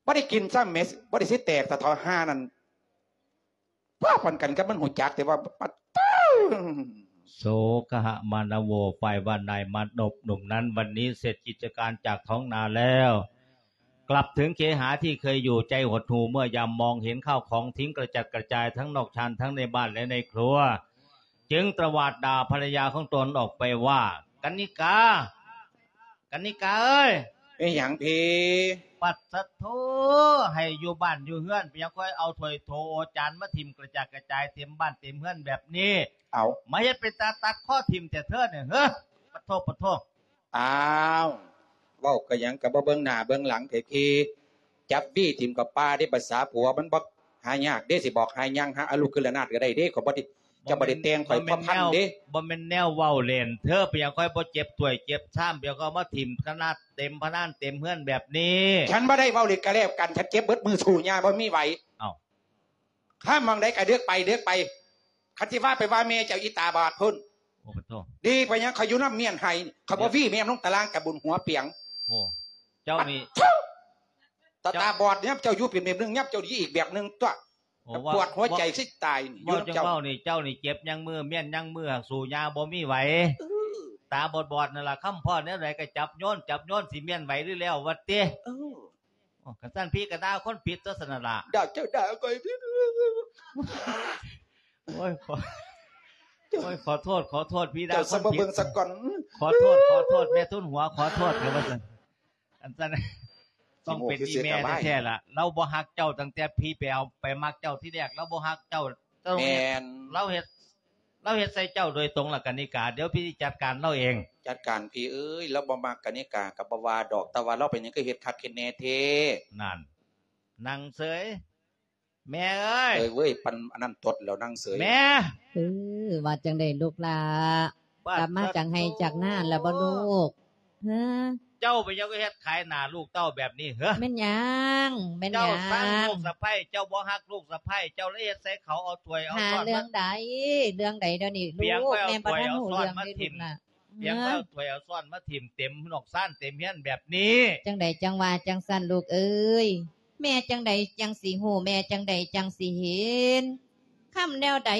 ບໍ່ໄດ້ກິນຊ້ຳແໝ ບໍ່ໄດ້ຊິແຕກ ຕາເຖົ້າຫ່ານັ້ນ. ພວກປານກັນກັບມັນຮູ້ຈັກ ແຕ່ວ່າປະຕູ. ໂສຄະຫະມານະໂວ ຝ່າຍບ້ານນາຍມານົບໜຸ່ມນັ້ນ ວັນນີ້ເສັດກິດຈະການຈາກທ້ອງນາແລ້ວ ກັບເຖິງເຄຫາທີ່ເຄີຍຢູ່ ໃຈຫົດຫູ່ເມື່ອຍາມມອງເຫັນຂ້າວຂອງຖິ້ມກະຈັດກະຈາຍທັງນອກຊານ ທັງໃນບ້ານ ແລະ ໃນຄົວ ຈຶ່ງຕະຫວາດດ່າພັນລະຍາຂອງຕົນອອກໄປວ່າ ກັນນິກາ ກັນນິກາເອີຍ! ເປັນຫຍັງພີ້? ປັດສະໂທ ໃຫ້ຢູ່ບ້ານຢູ່ເຮືອນ ເປັນຫຍັງຄ່ອຍເອົາຖ້ວຍໂຖໂອຈານມາຖິ້ມກະຈັດກະຈາຍເຕັມບ້ານເຕັມເຮືອນແບບນີ້? ເອົາ ມາເຮັດເປັນຕາຕັດຄໍຖິ້ມແທ້ເທີນີ້ ເຮີ ປະໂທ ປະໂທ. ອ້າວ ເວົ້າກະຫຍັງກະບໍ່ເບິ່ງໜ້າເບິ່ງຫຼັງແທ້ພີ້ ຈັບວີຖິ້ມເຂົ້າປ່າເດ້. ພາສາຜົວມັນບໍ່ຫາຍາກເດ້ ຊິບອກໃຫ້ຍ່າງຫາອາລຸກຄືລະນາດກະໄດ້ເດ້. ຂ້ອຍບໍ່ໄດ້ ເຈົ້າບໍ່ໄດ້ແຕ່ງ ຂ້ອຍພະພັນເດ້. ບໍ່ແມ່ນແນວເວົ້າຫຼິ້ນເທີ ເປັນຫຍັງຄ່ອຍບໍ່ເຈັບຖ້ວຍເຈັບຊາມ ເປັນຫຍັງຄ່ອຍມາຖິ້ມຂະໜາດເຕັມພະນານເຕັມເຮືອນແບບນີ້? ຄັນບໍ່ໄດ້ເວົ້າຫຼິ້ນກະແລ້ວກັນ ຄັນເຈັບເບິດມື້ ສູ້ຍ່າງບໍ່ມີໄຫວ. ເອົ້າ ຂ້າມໝ່ອງໃດກະເດີກໄປ ເດີກໄປ. ຄັນຊິວ່າໄປວ່າແມ່ເຈົ້າອີຕາບອດພຸ້ນ. ໂອ້ ປະໂທ ດີໄປຫຍັງ ຂ້ອຍຢູ່ນຳມ້ຽນໄຫ້ ຂ້ອຍບໍ່ວີແມ່ລົງຕາລາງກະບຸນຫົວປຽງ. ໂອ້ ເຈົ້ານີ້ ຕາ ຕາບອດ ຍາມເຈົ້າຢູ່ເປັນແບບໜຶ່ງ ຍາມເຈົ້າດີອີກແບບໜຶ່ງຕົວະ. ໂອ້ ປວດຫົວໃຈຊິຕາຍນີ້ ຢູ່ນຳເຈົ້າ. ເວົ້າຈັ່ງເວົ້ານີ້ ເຈົ້ານີ້ເຈັບຍັງມື ມ້ຽນຍັງມື ຫາກສູ້ຍ່າງບໍ່ມີໄຫວ. ເອີ ຕາບອດໆນັ້ນລະ ຄຳພໍ້ແນວໃດກະຈັບໂຍນ ຈັບໂຍນ ຊິມ້ຽນໄຫວຫຼືແລ້ວວະຕິ. ເອີ ໂອ້ ຄັນຊັ້ນພີ້ກະດ່າຄົນຜິດຕົວຊັ້ນນະລະ. ດ່າເຈົ້າດ່າຂ້ອຍ. ໂອ້ຍ ຂໍ ໂອ້ຍ ຂໍໂທດ ຂໍໂທດ ພີ້ດ່າຄົນຜິດ. ຂໍໂທດ ຂໍໂທດ ແມ່ທຶນຫົວ ຂໍໂທດ ເດີວ່າຊັ້ນ. ອັນຊັ້ນ ຕ້ອງເປັນອີ່ແມ່ແທ້ໆລະ ລາວບໍ່ຮັກເຈົ້າຕັ້ງແຕ່ພີ້ໄປເອົາ ໄປມັກເຈົ້າທີແລກ ລາວບໍ່ຮັກເຈົ້າ. ເຈົ້າເຮັດ ແມ່ນ ລາວເຮັດ ລາວເຮັດໃສ່ເຈົ້າໂດຍຕົງລະ ກະນິກາ. ດຽວພີ້ຊິຈັດການລາວເອງ. ຈັດການພີ້ເອີຍ ລາວບໍ່ມັກກະນິກາກະບໍ່ວ່າດອກ ແຕ່ວ່າລາວເປັນຫຍັງຄືເຮັດຄັກເຮັດແນ່ແທ້. ນັ້ນ ນັ່ງເສີຍ ແມ່ເອີຍ. ເອີຍເວີຍ ປັນອັນນັ້ນຕົດແລ້ວ ນັ່ງເສີຍ. ແມ່ ເອີ ວ່າຈັ່ງໃດລູກຫຼ້າ? ກັບມາຈາກໄຮ່ຈາກນາແລ້ວບໍ່ລູກ? ເຮີ ເຈົ້າເປັນຫຍັງຄືເຮັດຂາຍໜ້າລູກເຕົ້າແບບນີ້ເຮີ? ແມ່ນຫຍັງ? ແມ່ນຫຍັງ? ເຈົ້າຊັງລູກສະໃພ້ ເຈົ້າບໍ່ຮັກລູກສະໃພ້ ເຈົ້າເລີຍເຮັດໃສ່ເຂົາ ເອົາຖ້ວຍເອົາຊ້ອນມາ. ຫາເລື່ອງໃດ? ເລື່ອງໃດດຽວນີ້ລູກ? ແມ່ບໍ່ທັນຮູ້ເລື່ອງເດ້ລູກຫຼ້າ. ປຽງເອົາຖ້ວຍເອົາຊ້ອນມາຖິ້ມເຕັມນອກຊານເຕັມເຮືອນແບບນີ້. ຈັ່ງໃດຈັ່ງວ່າຈັ່ງຊັ້ນລູກເອີຍ. ແມ່ຈັ່ງໃດຈັ່ງຊິຮູ້ ແມ່ຈັ່ງໃດຈັ່ງຊິເຫັນ. ຄຳແນວໃດ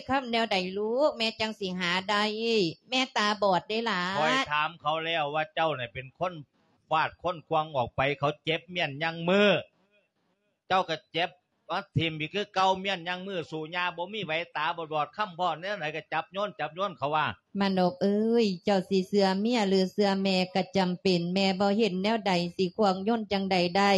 ຄຳແນວໃດລູກ ແມ່ຈັ່ງຊິຫາໄດ້. ແມ່ຕາບອດເດ້ຫຼ້າ. ຂ້ອຍຖາມເຂົາແລ້ວວ່າເຈົ້ານີ້ເປັນຄົນຟາດຄົນຂວ້າງອອກໄປ ເຂົາເຈັບມ້ຽນຍັງມື. ເຈົ້າກະເຈັບມາຖິ້ມອີກຄືເກົ່າ ມ້ຽນຍັງມື ສູ້ຍ່າງບໍ່ມີໄຫວ ຕາບອດໆ ຄຳພໍ້ແນວໃດກະຈັບໂຍນ ຈັບໂຍນ ເຂົາວ່າ. ມານົບເອີຍ ເຈົ້າຊິເຊື່ອເມຍຫຼືເຊື່ອແມ່ກະຈຳເປັນ ແມ່ບໍ່ເຫັນແນວໃດ ຊິຂວ້າງໂຍນຈັ່ງໃດໄດ້.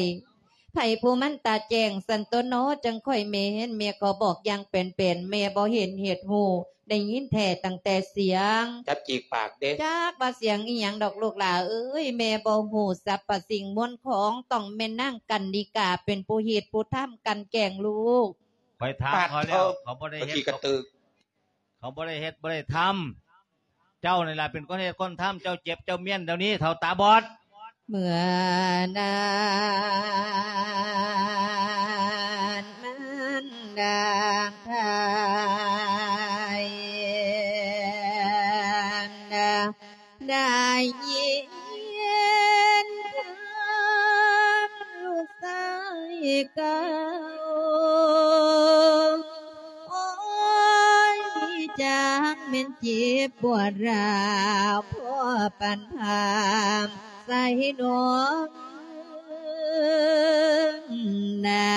ໃຜຜູ້ມັນຕາແຈ້ງ ຊັ້ນຕົວເນາະ ຈັ່ງຄ່ອຍແມ່ນ ແມ່ກໍບອກຢ່າງແປນໆ ແມ່ບໍ່ເຫັນເຮັດຮູ້ ໄດ້ຍິນແທ້ຕັ້ງແຕ່ສຽງ. ຈັບຈີກປາກເດ້. ຈັກວ່າສຽງອີ່ຫຍັງດອກລູກຫຼ້າເອີຍ ແມ່ບໍ່ຮູ້ສັບພະສິ່ງມວນຂອງ ຕ້ອງແມ່ນນາງກັນນິກາເປັນຜູ້ເຮັດຜູ້ທຳກັ່ນແກ້ງລູກ. ຂ້ອຍຖາມເຂົາແລ້ວ ເຂົາບໍ່ໄດ້ເຮັດ ເຂົາບໍ່ໄດ້ເຮັດບໍ່ໄດ້ທຳ. ເຈົ້ານີ້ລະເປັນຄົນເຮັດຄົນທຳ ເຈົ້າເຈັບເຈົ້າມ້ຽນດຽວນີ້ ເຖົ້າຕາບອດ. ເມື່ອນັ້ນມັນນາງໄທນາງໄດ້ຍິນຄຳລູກຊາຍເກົ່າ ໂອ້ຍ ຈັກແມ່ນເຈັບປວດຮ້າວພໍປານພາມ ໃສໜອງນາ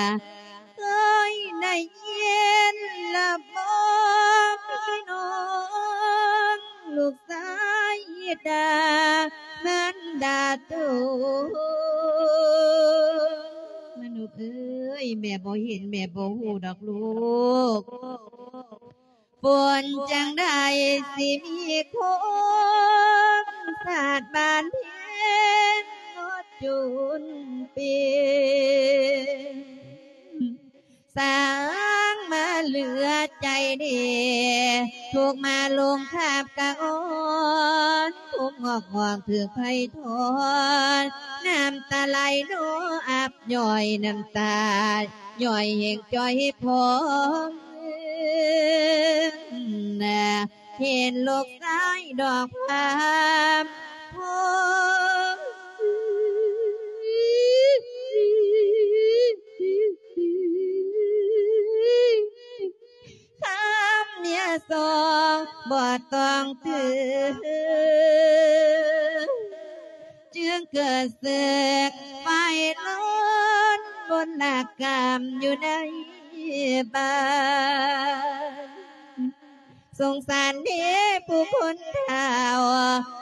ເຄີຍໄດ້ຍິນລະບໍ່ພີ່ນ້ອງ ລູກຊາຍດາ ມັນດາໂຕ. ມະນຸບເອີຍ ແມ່ບໍ່ເຫັນ ແມ່ບໍ່ຮູ້ດອກລູກ. ຝົນຈັ່ງໃດຊິມີຄົນ ສາດບານເພັງ ໝົດຈຸນປີ ສ້າງມາເຫຼືອໃຈເດ ທຸກມາລົງຄາບກະອ່ອນ ທຸກງອກງອກຖືກໄພທອນ ນ້ຳຕາໄຫຼໂນອັບຍ້ອຍ ນ້ຳຕາຍ້ອຍແຫ່ງຈ່ອຍພອງ ເຫັນລູກຊາຍດອກພາມໂພ ຄຳເມຍສອງບໍ່ຕ້ອງຕື່ນ ຈຶ່ງເກີດເສກໄຟລຸນບົນລະກຳຢູ່ໃນບ້ານ. ສົງສານເດຜູ້ຄົນເຖົ້າ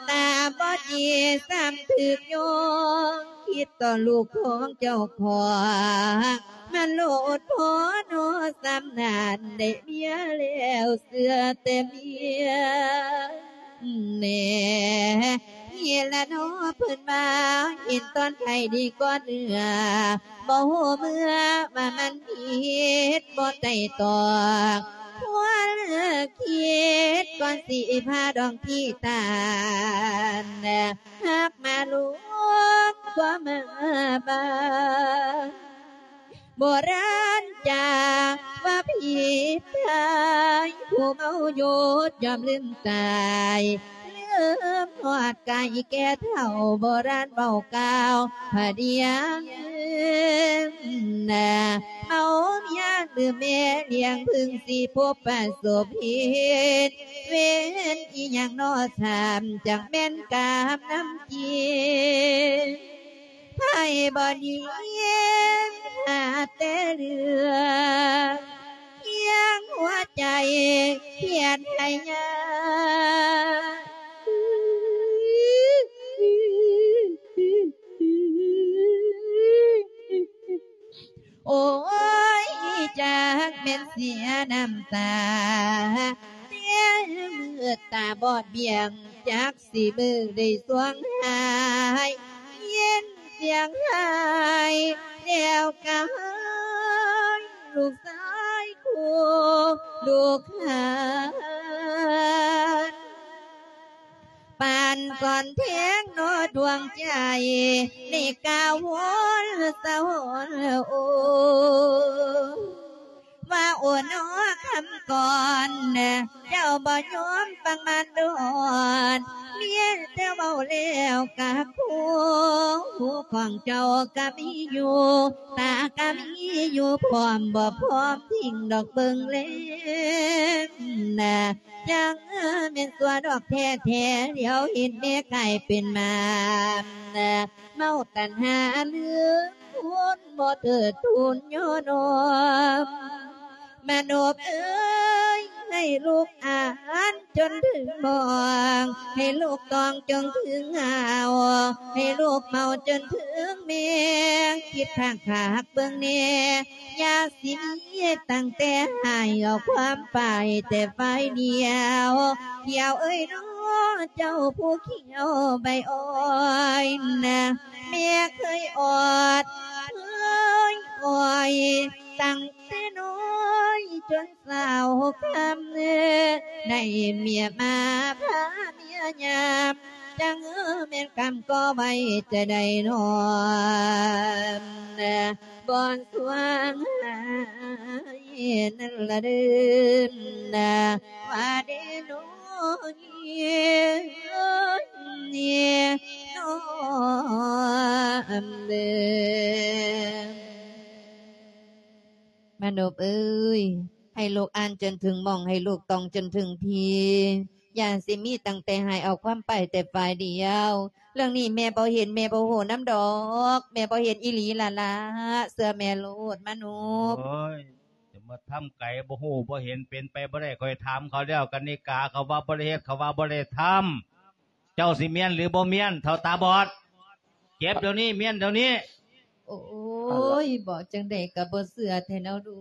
ຕາບໍ່ດີຊ້ຳຖືກໂຍງ ຄິດຕໍ່ລູກຂອງເຈົ້າຂອງ ມັນໂລດພໍເນາະ ສ່ຳນັ້ນໄດ້ເມຍແລ້ວເຊື່ອແຕ່ເມຍແນ່. ນີ້ລະເນາະເພິ່ນວ່າ ເຫັນຕອນໄຂ້ດີກ່ອນເອື້ອ ບໍ່ຮູ້ເມື່ອວ່າມັນຜິດບໍ່ໄຕ່ຕອງ ຄວນຄິດກ່ອນຊິພາດອງທີ່ຕານ ຮັກມາລວມຄວາມມາບານ. ໂບລານຈາວ່າຜີຕາຍ ຜູ້ເມົາຢຸດຍ່ອມລືມຕາຍ ລືມຮອດກາຍແກ່ເຖົ້າ ໂບລານເວົ້າກ່າວພະດຽງນາ ເມົາເມຍລືມແມ່ລ້ຽງ ເພິ່ງຊິພົບປະສົບເຫດ ເວນອີ່ຫຍັງເນາະ ສາມຈັ່ງແມ່ນກາມນຳຈິງ ໃຜບໍ່ດີຫາແຕ່ເລື່ອງ ຄຽງຫົວໃຈຄຽດໃຫ້ຍາ ໂອ້ຍ ຈັກແມ່ນເສຍນ້ຳຕາ ແຕ່ມືດຕາບອດບຽງ ຈັກຊິມືໄດ້ສວງຫາຍ ຍິນສຽງຫາຍແລ້ວກະຫາຍ ລູກຊາຍຄູ່ລູກຂານ ປານກ່ອນແທງເນາະດວງໃຈ ໃນກາວໂຫນສະຫອນໂອ ວ່າໂອເນາະຄຳກ່ອນ ເຈົ້າບໍ່ຍອມຟັງມາດອນ ເມຍແຕ່ເວົ້າແລ້ວກະຄູ ຫູຂອງເຈົ້າກະມີຢູ່ ຕາກະມີຢູ່ ພ້ອມບໍ່ພ້ອມຖິ້ມດອກເບິ່ງແລງນາ ຈັ່ງແມ່ນຊົ່ວດອກແທ້ໆ ຫຼຽວເຫັນແມ່ກາຍເປັນມານ ເມົາຕັນຫາລືມຄຸນ ບໍ່ເທີດທູນຍໍນ້ອມ ມະນົບເອີຍ ໃຫ້ລູກອ່ານຈົນເຖິງໝອງ ໃຫ້ລູກຕ້ອງຈົນເຖິງຫາວ ໃຫ້ລູກເມົາຈົນເຖິງແມງ ຄິດຂ້າງຂາກເບິ່ງແນ່ ຢ່າຊິມີຕັ້ງແຕ່ໃຫ້ເອົາຄວາມໄປແຕ່ຝ່າຍດຽວ ຂຽວເອີຍເນາະ ເຈົ້າຜູ້ຂຽວໃບອ້ອຍນະ ແມ່ເຄີຍອອດເຄີຍອ້ອຍ ຕັ້ງແຕ່ນ້ອຍຈົນສາວຄຳ ໄດ້ເມຍມາພາເມຍຍາມ ຈັ່ງແມ່ນກຳກໍໄວ້ຈະໄດ້ນອນ ບ່ອນສວງຫາຍນັ້ນລະເດີນນະ ວ່າເດໂນເນໂນເດີ ມະນົບເອີຍ ໃຫ້ລູກອ່ານຈົນເຖິງໝ່ອງ ໃຫ້ລູກຕ້ອງຈົນເຖິງທີ່ ຢ່າຊິມີຕັ້ງແຕ່ໃຫ້ເອົາຄວາມໄປແຕ່ຝ່າຍດຽວ. ເລື່ອງນີ້ແມ່ບໍ່ເຫັນ ແມ່ບໍ່ຮູ້ນຳດອກ ແມ່ບໍ່ເຫັນອີ່ຫຼີລະລະ ເຊື່ອແມ່ໂລດມະນຸບ. ໂອ້ຍ ຈະມາທຳໄກ ບໍ່ຮູ້ບໍ່ເຫັນ ເປັນໄປບໍ່ໄດ້. ຂ້ອຍຖາມເຂົາແລ້ວ ກະນິກາ ເຂົາວ່າບໍ່ໄດ້ເຮັດ ເຂົາວ່າບໍ່ໄດ້ທຳ. ເຈົ້າຊິມ້ຽນຫຼືບໍ່ມ້ຽນ ເຖົ້າຕາບອດ? ເຈັບດຽວນີ້ ມ້ຽນດຽວນີ້. ໂອ້ຍ ເວົ້າຈັ່ງໃດກະບໍ່ເຊື່ອແທ້ເນາະລູ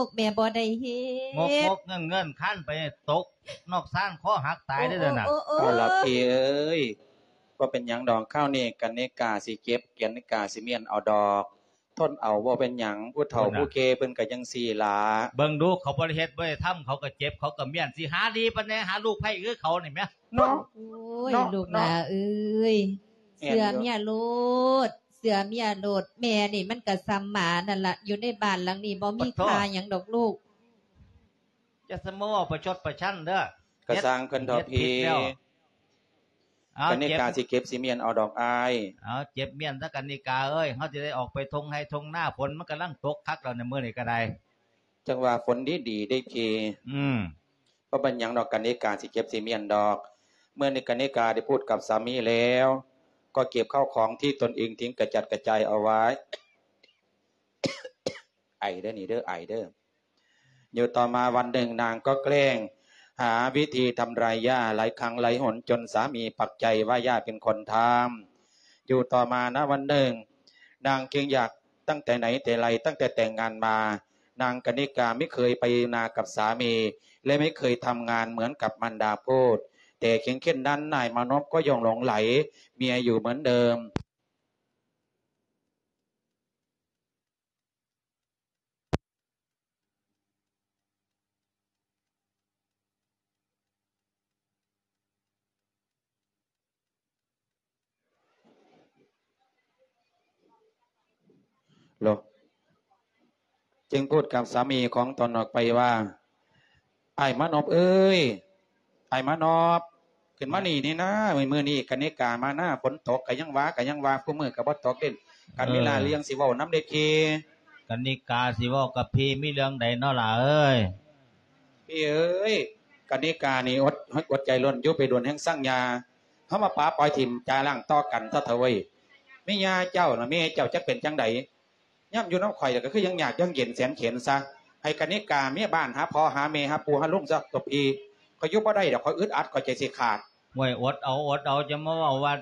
ກ ແມ່ບໍ່ໄດ້ເຮັດ. ງົກໆເງິນໆ ຄານໄປຕົກນອກຊານ ຄໍຫັກຕາຍເດີ້ນະ. ໂອ້ ໂອ້ ໂອ້ ເອົາລະພີ່ເອີຍ ບໍ່ເປັນຫຍັງດອກ ຄາວນີ້ກະນິກາຊິເຈັບ ກະນິກາຊິມ້ຽນເອົາດອກ. ທົນເອົາ ບໍ່ເປັນຫຍັງ ຜູ້ເຖົ້າຜູ້ແກ່ເພິ່ນກະຈັ່ງຊີ້ລະ. ເບິ່ງດູ ເຂົາບໍ່ໄດ້ເຮັດບໍ່ໄດ້ທຳ ເຂົາກະເຈັບ ເຂົາກະມ້ຽນ ຊິຫາດີປານໃດ ຫາລູກໃຜຄືເຂົານີ້ແມະ. ເນາະ ໂອ້ຍ ເນາະ ລູກຫຼ້າເອີຍ ເຊື່ອເມຍໂລດ ເຊື່ອເມຍໂລດ. ແມ່ນີ້ມັນກະສ່ຳໝານັ້ນລະ ຢູ່ໃນບ້ານຫຼັງນີ້ບໍ່ມີຄ່າຫຍັງດອກລູກ. ຢ່າສະມາເວົ້າປະຊົດປະຊັນເດີ້. ກະຊ່າງເພິ່ນເຖາະພີ່. ເຮັດຜິດແລ້ວ. ເອົາ ກະນິກາ ເຈັບ ຊິເຈັບຊິມ້ຽນເອົາດອກອ້າຍ. ເອົາ ເຈັບມ້ຽນຊະກະນິກາເອີຍ ເຮົາຊິໄດ້ອອກໄປທົ່ງໄຮ່ທົ່ງນາ ຝົນມັນກຳລັງຕົກຄັກແລ້ວໃນມື້ນີ້ກະໄດ້. ຈັ່ງວ່າຝົນດີໆເດ້ພີ່. ອືມ ບໍ່ເປັນຫຍັງດອກ ກະນິກາຊິເຈັບຊິມ້ຽນດອກ. ເມື່ອນີ້ກະນິກາໄດ້ພູດກັບສາມີແລ້ວ ກໍເກັບເຂົ້າຂອງທີ່ຕົນເອງຖິ້ມກະຈັດກະຈາຍເອົາໄວ້. ໄອເດີ້ນີ້ເດີ້ ໄອເດີ້. ຢູ່ຕໍ່ມາວັນໜຶ່ງ ນາງກໍແກລ້ງຫາວິທີທຳລາຍຫຍ້າຫຼາຍຄັ້ງຫຼາຍຫົນ ຈົນສາມີປັກໃຈວ່າຫຍ້າເປັນຄົນທຳ. ຢູ່ຕໍ່ມານະວັນໜຶ່ງ ນາງຈຶ່ງຢາກ ຕັ້ງແຕ່ໃນແຕ່ໄລ ຕັ້ງແຕ່ແຕ່ງງານມາ ນາງກະນິກາໄມ່ເຄີຍໄປນາກັບສາມີ ແລະ ໄມ່ເຄີຍທຳງານເໝືອນກັບມັນດາໂພດ. ແຕ່ເຄງເຂັນນັ້ນ ນາຍມານົບກໍຍັງຫຼົງໄຫຼເມຍຢູ່ເໝືອນເດີມ. ໂລ ຈຶ່ງພູດກັບສາມີຂອງຕົນອອກໄປວ່າ ອ້າຍມານົບເອີຍ ອ້າຍມານົບ ຂຶ້ນມານີ້ແດ່ນາ ມື້ນີ້ກະນິກາມານາ ຝົນຕົກກະຍັງວ່າ ກະຍັງວ່າ ຄູ່ມື້ກະບໍ່ຕົກເດ້. ກະມີຫຼາຍເລື່ອງຊິເວົ້ານຳເດ້ພີ່. ກະນິກາຊິເວົ້າກັບພີ່ ມີເລື່ອງໃດເນາະຫຼ້າເອີຍ? ພີ່ເອີຍ ກະນິການີ້ອົດ ອົດໃຈລົ້ນຢູ່ໄປດົນແຮງສັງຍາ ເຮົາມາປະປ່ອຍຖິ້ມຈາລ້າງຕໍ່ກັນຊະເຖາະເວີຍ. ແມ່ຍ່າເຈົ້ານະ ແມ່ເຈົ້າຈັກເປັນຈັ່ງໃດ ຍາມຢູ່ນຳຂ້ອຍແລ້ວກະຄືຍັງຍາກຍັງເຢັນແສນເຂັນຊະ. ໃຫ້ກະນິກາເມຍບ້ານຫາພໍ່ຫາແມ່ຫາປູ່ຫາລຸງຊະຕົວະພີ່. ຂ້ອຍຢູ່ບໍ່ໄດ້ດອກ ຂ້ອຍອຶດອັດ ຂ້ອຍໃຈຊິຂາດ. ໂອ້ຍ ອົດເອົາ ອົດເອົາ ຈະມາເວົ້າວ່າ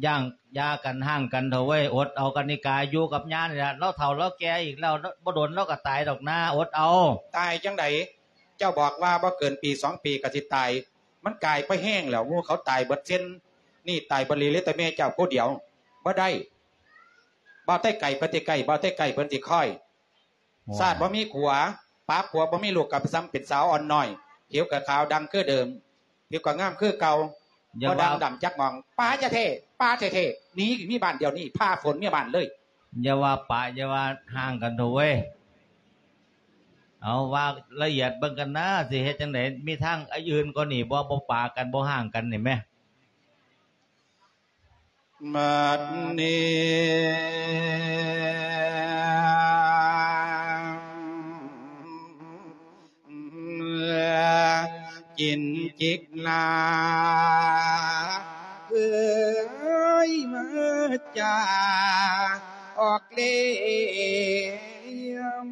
ຢ່າງ ຢ່າກັນ ຮ້າງກັນເຖາະເວີຍ. ອົດເອົາ ກະນິກາຢູ່ກັບຍ່ານີ້ລະ ລາວເຖົ້າລາວແກ່ອີກແລ້ວ ບໍ່ດົນລາວກະຕາຍດອກນາ ອົດເອົາ. ຕາຍຈັ່ງໃດ? ເຈົ້າບອກວ່າບໍ່ເກີນປີສອງປີກະຊິຕາຍ ມັນກາຍໄປແຮງແລ້ວ ໝູ່ເຂົາຕາຍເບິດເຊັ່ນ ນີ້ຕາຍບໍ່ເຫຼືອແຕ່ແມ່ເຈົ້າຜູ້ດຽວ. ບໍ່ໄດ້ ບ່າວໄຕ້ໄກ່ເພິ່ນຊິໄກ່ ບ່າວໄຕ້ໄກ່ເພິ່ນຊິຄອຍ. ໂອ້ຍ ຊາດບໍ່ມີຜົວ ປາຜົວບໍ່ມີລູກ ກະໄປສ່ຳເປັນສາວອ່ອນນ້ອຍ ຜິວກະຂາວດັງຄືເດີມ ຜິວກະງາມຄືເກົ່າ ບໍ່ດ່າງດຳຈັກໝ່ອງ. ປາແທ້ໆ ປາແທ້ໆ ໜີມີບ້ານດຽວນີ້ ພາຝົນເມຍບ້ານເລີຍ. ຢ່າວ່າປະ ຢ່າວ່າຮ້າງກັນເຖາະເວີຍ. ເອົາ ວ່າລະອຽດເບິ່ງກັນນາ ຊິເຮັດຈັ່ງໃດ ມີທາງອື່ນກວ່ານີ້ບໍ່? ບໍ່ປະກັນ ບໍ່ຮ້າງກັນນີ້ແມະ. ບັດນີ້ ຈິນຈິກລາ ເອີຍ ມາຈາອອກເລຍມ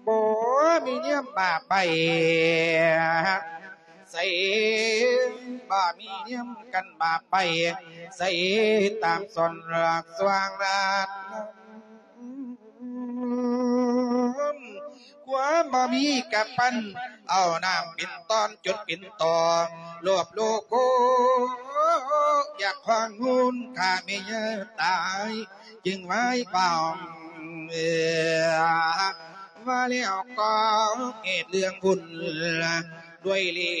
ບໍ່ມີນຽມບາບໃບ ໃສ ບໍ່ມີນຽມກັນບາບໃບ ໃສຕາມສອນລາກສວ່າງລາດ ຄວາມບໍ່ມີກະປັ່ນ ເອົານ້ຳເປັນຕອນຈົນເປັນຕໍ ໂລບໂລໂກ ຢາກຄວາງງູນຂ້າແມ່ຍ່າຕາຍ ຈຶ່ງໄຫວ້ບ່າວ ວ່າແລ້ວກໍເຮັດເລື່ອງບຸນ ດ້ວຍເລ່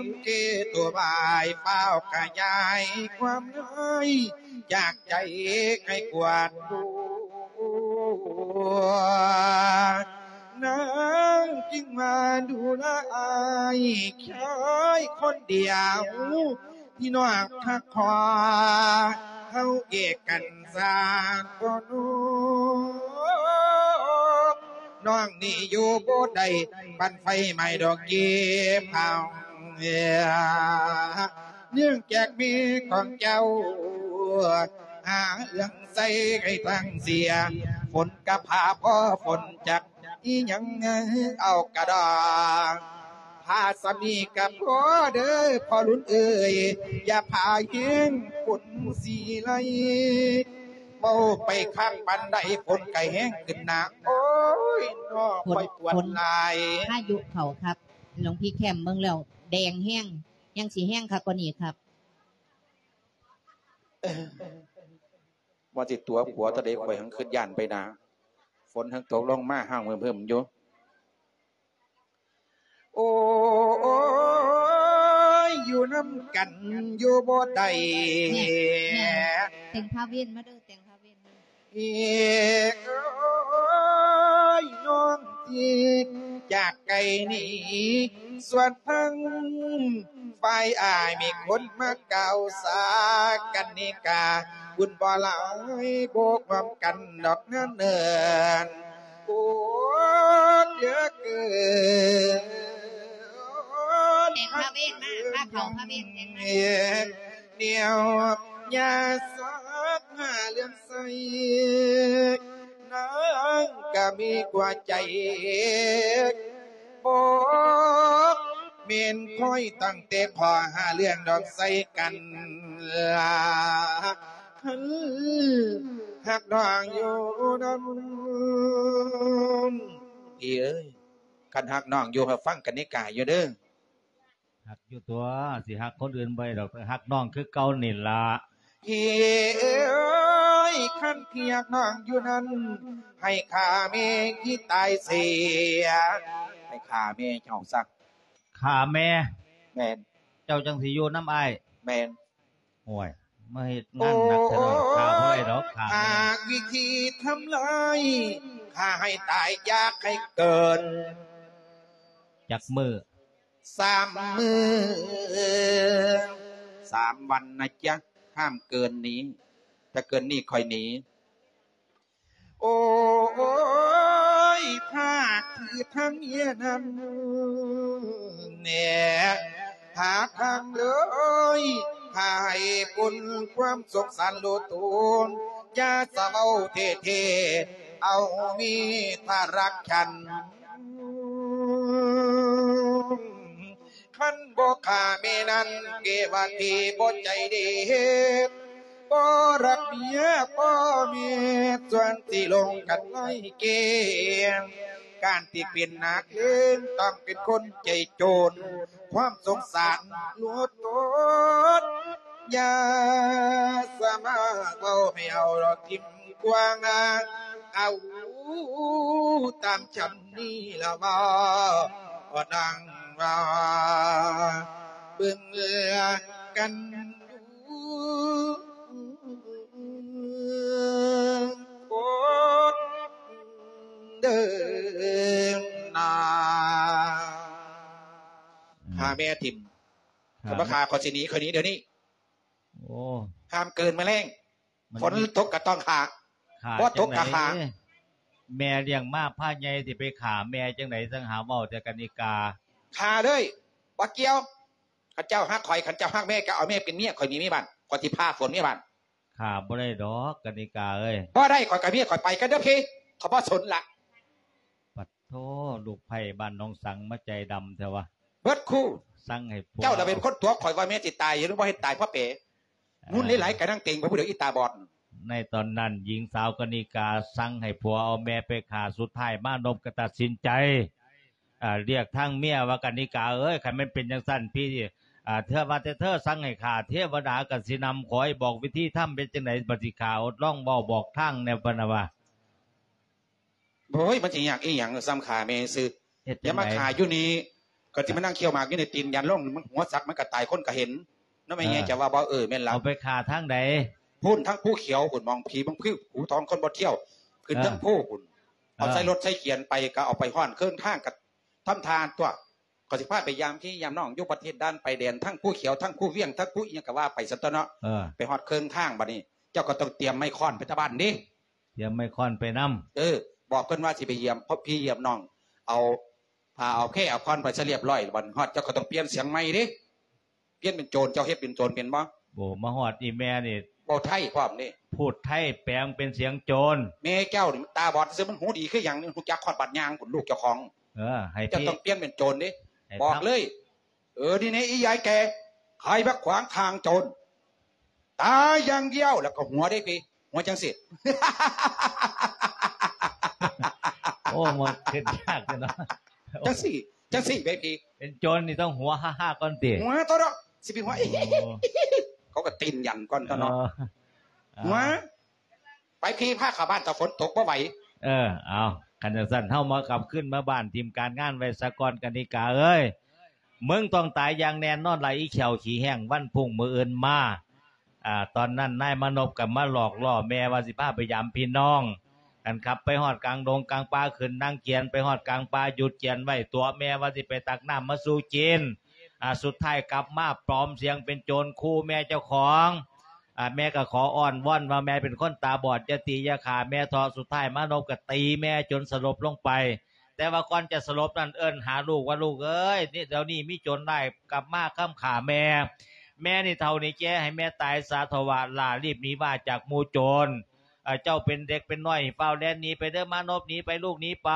ມເກໂຕບາຍ ຟ້າວຂະຫຍາຍຄວາມນ້ອຍ ຈາກໃຈໃຫ້ກວາດ ນາງຈຶ່ງມາດູລາອ້າຍ ແຄ່ອ້າຍຄົນດຽວ ພີ່ນ້ອງຮັກພໍ ເຮົາແຍກກັນສາງບໍ່ນອກ ນ້ອງນີ້ຢູ່ບໍ່ໄດ້ ບັ້ນໄຟໄໝ້ດອກເກັບເອົາ ເນື່ອງຈາກແມ່ຂອງເຈົ້າ ຫາເລື່ອງໃສ່ໃຫ້ທັງເສຍ ຝົນກະພາພໍຝົນຈັກ ອີຫຍັງເອົາກະດອງ ພາສາມີກະພໍເດີພໍ່ລຸນເອີຍ ຢ່າພາແຮງຝົນຊິໄຫຼ ເວົ້າໄປຂ້າງປານໃດຝົນກະແຮງຂຶ້ນໜ້າ ໂອ້ຍ ນ້ອ ຂ້ອຍປວດຫຼາຍ ພາຍຸເຂົ້າຄັກ ຫຼວງພີ່ແຄມເບິ່ງແລ້ວແດງແຮງ ຍັງຊິແຮງຄັກກວ່ານີ້ຄັກ. ວ່າຊິຕົວະຜົວເທົ່າໃດ ຂ້ອຍຫັ້ນຄິດຢ້ານໄປນາ ຝົນຫັ້ນຕົກລົງມາຫ້າວເຫິ້ມໆຢູ່ ໂອ້ຍ ຢູ່ນຳກັນຢູ່ບໍ່ໄດ້ ແນ່ ແນ່ ແຕ່ງພາເວນມາເດີ ແຕ່ງພາເວນມາ ເອີຍ ນ້ອງທີ່ຈາກໄກນີ້ ສ່ວນທາງ ຝ່າຍອ້າຍມີຄົນມາກ່າວສາກັນນິກາ ບຸນບໍ່ຫຼາຍບໍ່ຮ່ວມກັນດອກນາເນີນ ໂອ້ ເຫຼືອເກີນ ແຕ່ງພາເວນມາ ພາເຂົ້າພາເວນແຕ່ງມາ ແນວຢາສັກຫາເລື່ອງ ໃສ່ນາງກະມີກວ່າໃຈ ບໍ່ແມ່ນຂ້ອຍຕັ້ງແຕ່ພໍຫາເລື່ອງດອກໃສ່ກັນລະ ຄັນຮັກນ້ອງຢູ່ນຳ ພີ່ເອີຍ ຄັນຮັກນ້ອງຢູ່ໃຫ້ຟັງກັນນິກາຢູ່ເດີ. ຮັກຢູ່ຕົວະ ຊິຮັກຄົນອື່ນບໍ່ໄດ້ດອກ ຮັກນ້ອງຄືເກົ່ານີ້ລະ ພີ່ເອີຍ ຄັນທີ່ຮັກນ້ອງຢູ່ນັ້ນ ໃຫ້ຂ້າແມ່ທີ່ຕາຍເສຍ ໃຫ້ຂ້າແມ່ເຈົ້າຊະ ຂ້າແມ່ ແມ່ນ ເຈົ້າຈັ່ງຊິຢູ່ນຳອ້າຍ ແມ່ນ ໂອ້ຍ ມາເຮັດງານໜັກແທ້ເນາະ ຂ້າບໍ່ໄດ້ດອກ ຂ້າແມ່ ຫາກວິທີທຳລາຍ ຂ້າໃຫ້ຕາຍ ຢາກໃຫ້ເກີນ ຈັກມື້ ສາມມື້ ສາມວັນນະຈ໊ະ ຫ້າມເກີນນີ້ ຖ້າເກີນນີ້ຂ້ອຍໜີ ໂອ້ຍ ພາກທີ່ທັງເຮຍນັ້ນແນ່ ຫາທາງເລີຍ ພາໃຫ້ປົນຄວາມສົງສານໂລໂຕນ ຢ່າສະເວົ້າເທ່ໆ ເອົາມີທາຣັກສັນ ຄັນບໍ່ຂ້າແມ່ນັ້ນ ເກວະເທບໍ່ໃຈເດ ບໍ່ຮັກເມຍພໍ່ແມ່ ສ່ວນຊິລົງກັນໄລ່ເກງ ການທີ່ເປັນນັກເລງ ຕ້ອງເປັນຄົນໃຈໂຈນ ຄວາມສົງສານຫຼວງຕົນ ຢ່າສາມາດເວົ້າໃຫ້ເອົາດອກຖິ້ມ ກວ້າງ ເອົາຕາມຊັ້ນນີ້ລະວ່າ ນາງວ່າ ເບິ່ງກັນດູໂອດເດີນາ ຂ້າແມ່ຖິ້ມ ຂ້າ ຄັນບໍ່ຂ້າ ຂ້ອຍຊິໜີ ຂ້ອຍໜີດຽວນີ້ ໂອ້ ຫ້າມເກີນມາແລງ ມັນ ຝົນຕົກກໍຕ້ອງຂ້າ ຂ້າ ບໍ່ຕົກກໍຂ້າ ຈັ່ງໃດ ແມ່ລ້ຽງມາພາໃຫຍ່ ຊິໄປຂ້າແມ່ຈັ່ງໃດ ຈັ່ງຫາເວົ້າແຕ່ກະນິກາ ຂ້າເລີຍ ບໍ່ກ່ຽວ ຄັນເຈົ້າຮັກຂ້ອຍ ຄັນເຈົ້າຮັກແມ່ ກໍເອົາແມ່ເປັນເມຍ ຂ້ອຍມີເມຍບ້ານ ຂ້ອຍຊິພາຝົນເມຍບ້ານ ຂ້າບໍ່ໄດ້ດອກກະນິກາເອີຍ ບໍ່ໄດ້ ຂ້ອຍກັບເມຍຂ້ອຍໄປກັນເດີພີ່ ຂ້ອຍບໍ່ສົນລະ ປະໂທ້ ລູກໃພ້ບ້ານໜອງສັງມາໃຈດຳແທ້ວະ ເບິດຄູ່ ສັ່ງໃຫ້ຜົວ ເຈົ້າລະເປັນຄົນຕົວະຂ້ອຍວ່າແມ່ຊິຕາຍ ຫຼືບໍ່ເຮັດຕາຍເພາະເປ ງຸ່ນຫຼາຍໆ ກະນັ່ງເຕັງໄປຜູ້ດຽວ ອີຕາບອດ. ໃນຕອນນັ້ນ ຍິງສາວກະນິກາສັ່ງໃຫ້ຜົວເອົາແມ່ໄປຂ້າ ສຸດທ້າຍມານົບກໍຕັດສິນໃຈ ອາ ລຽກທາງເມຍວ່າ ກະນິກາເອີຍ ຄັນແມ່ນເປັນຈັ່ງຊັ້ນ ພີ່ ອາ ເທວະເທເທີສັ່ງໃຫ້ຂ້າ ເທວະດາກໍຊິນຳ ຂໍໃຫ້ບອກວິທີທຳເປັນຈັ່ງໃດ ບັດຊິຂ້າ ທົດລອງເວົ້າບອກທາງແດ່ ເພິ່ນວ່າ ໂອ້ຍ ມັນຊິຍາກອີຫຍັງ ສ່ຳຂ້າແມ່ຊື່ ເຮັດຈັ່ງໃດ ຢ່າມາຂ້າຢູ່ນີ້ ກໍຊິມານັ່ງຄ້ຽວໝາກຢູ່ໃນຕີນ ຢ້ານລົງ ມັນຫົວສັກມັນກໍຕາຍ ຄົນກໍເຫັນ ນຳແມ່ໃຫຍ່ ເອີ ຈະວ່າບໍ່ ເອີ ແມ່ນລະ ເອົາໄປຂ້າທາງໃດ ພຸ້ນ ທາງພູຂຽວພຸ້ນ ໝ່ອງຜີເບິ່ງ ຜູ້ທອງຄົນບໍ່ທ່ຽວ ຂຶ້ນ ເອີ ເທິງພູພຸ້ນ ເອີ ເອົາໃສ່ລົດໃສ່ຂຽນໄປ ກໍເອົາໄປຮອດເຄິ່ງທາງ ກໍທຳທ່າຕົວະ ກໍຊິພາໄປຢາມພີ່ຢາມນ້ອງ ຢູ່ປະເທດດ່ານຊາຍແດນ ທັງພູຂຽວ ທັງພູວຽງ ທັງພູອີ່ຫຍັງກໍວ່າໄປຊັ້ນຕົວະເນາະ ເອີ ໄປຮອດເຄິ່ງທາງ ບັດນີ້ເຈົ້າກໍຕ້ອງຕຽມໄມ້ຄ້ອນໄປແຕ່ບ້ານເດ້ ຕຽມໄມ້ຄ້ອນໄປນຳ ເອີ ບອກເພິ່ນວ່າຊິໄປຢ້ຽມ ເພາະພີ່ຢ້ຽມນ້ອງ ເອົາ ຖ້າເອົາແຂ້ເອົາຄອນໄປຊະລຽບຮ້ອຍ ບັດຮອດເຈົ້າກໍຕ້ອງປ່ຽນສຽງໃໝ່ເດ້. ປ່ຽນເປັນໂຈນ ເຈົ້າເຮັດເປັນໂຈນເປັນບໍ່? ໂອ້ ມາຮອດອີ່ແມ່ນີ້ ເວົ້າໄທພ້ອມນີ້ ພູດໄທແປງເປັນສຽງໂຈນ. ແມ່ເຈົ້ານີ້ມັນຕາບອດຊື່ ມັນຫູດີຄືຫຍັງນີ້ ຮູ້ຈັກຮອດບາດຍ່າງພຸ້ນ ລູກເຈົ້າຂອງ. ເອີ ໃຫ້ ເຈົ້າຕ້ອງປ່ຽນເປັນໂຈນເດ້ ບອກເລີຍ. ເອີ ນີ້ແນ່ ອີຍາຍແກ່ ຂາຍຜັກຂວາງຂ້າງໂຈນ ຕາຢ່າງດຽວ ແລ້ວກໍຫົວເດ້ພີ່ ຫົວຈັ່ງຊີ້. ໂອ້ ມັນຄິດຍາກເນາະ. ຈັ່ງຊີ້ ຈັ່ງຊີ້ແມ່ພີ່ ເປັນໂຈນນີ້ຕ້ອງຫົວຮາໆກ່ອນຕິ? ຫົວຕົວະເນາະ ຊິໄປຫົວ ໂອ້ ເຂົາກໍຕີນຢັນກ່ອນຕົວະເນາະ. ເອີ ຫົວ ໄປພີ່ ພາເຂົ້າບ້ານ ຖ້າຝົນຕົກບໍ່ໄຫວ. ເອີ ເອົາ ຄັນຈັ່ງຊັ້ນ ເຮົາມາກັບຄືນມາບ້ານ ຖິ້ມການງານໄວ້ສາກ່ອນ ກະນິກາເອີຍ. ມຶງຕ້ອງຕາຍຢ່າງແນ່ນອນລະ ອີແຂ້ວຂີ້ແຫ້ງ ວັນພຸ່ງມື້ອື່ນມາ. ອາ ຕອນນັ້ນນາຍມານົບກໍມາຫຼອກລໍ້ແມ່ວ່າຊິພາໄປຢາມພີ່ນ້ອງ. ອັນຂັບໄປຮອດກາງດົງກາງປ່າ ຂຶ້ນນາງກຽນ ໄປຮອດກາງປ່າ ຢຸດກຽນໄວ້ ຕົວະແມ່ວ່າຊິໄປຕັກນ້ຳມາສູ່ກິນ. ອາ ສຸດທ້າຍກັບມາປອມສຽງເປັນໂຈນ ຂູ່ແມ່ເຈົ້າຂອງ. ອາ ແມ່ກໍຂໍອ້ອນວອນວ່າ ແມ່ເປັນຄົນຕາບອດ ຢ່າຕີຢ່າຂ້າແມ່ເຖາະ. ສຸດທ້າຍມານົບກໍຕີແມ່ຈົນສະຫຼົບລົງໄປ. ແຕ່ວ່າກ່ອນຈະສະຫຼົບນັ້ນ ເອີ້ນຫາລູກວ່າ ລູກເອີຍ ນີ້ ດຽວນີ້ມີໂຈນຮ້າຍກັບມາຄຳຂ້າແມ່. ແມ່ນີ້ເຖົ້ານີ້ແກ່ ໃຫ້ແມ່ຕາຍສາເຖາະວະ ຫຼ້າລີບໜີວ່າຈາກໝູ່ໂຈນ. ເອີ ເຈົ້າເປັນເດັກເປັນນ້ອຍ ຟ້າວແລ່ນໜີໄປເດີ ມານົບ ໜີໄປ ລູກໜີໄປ.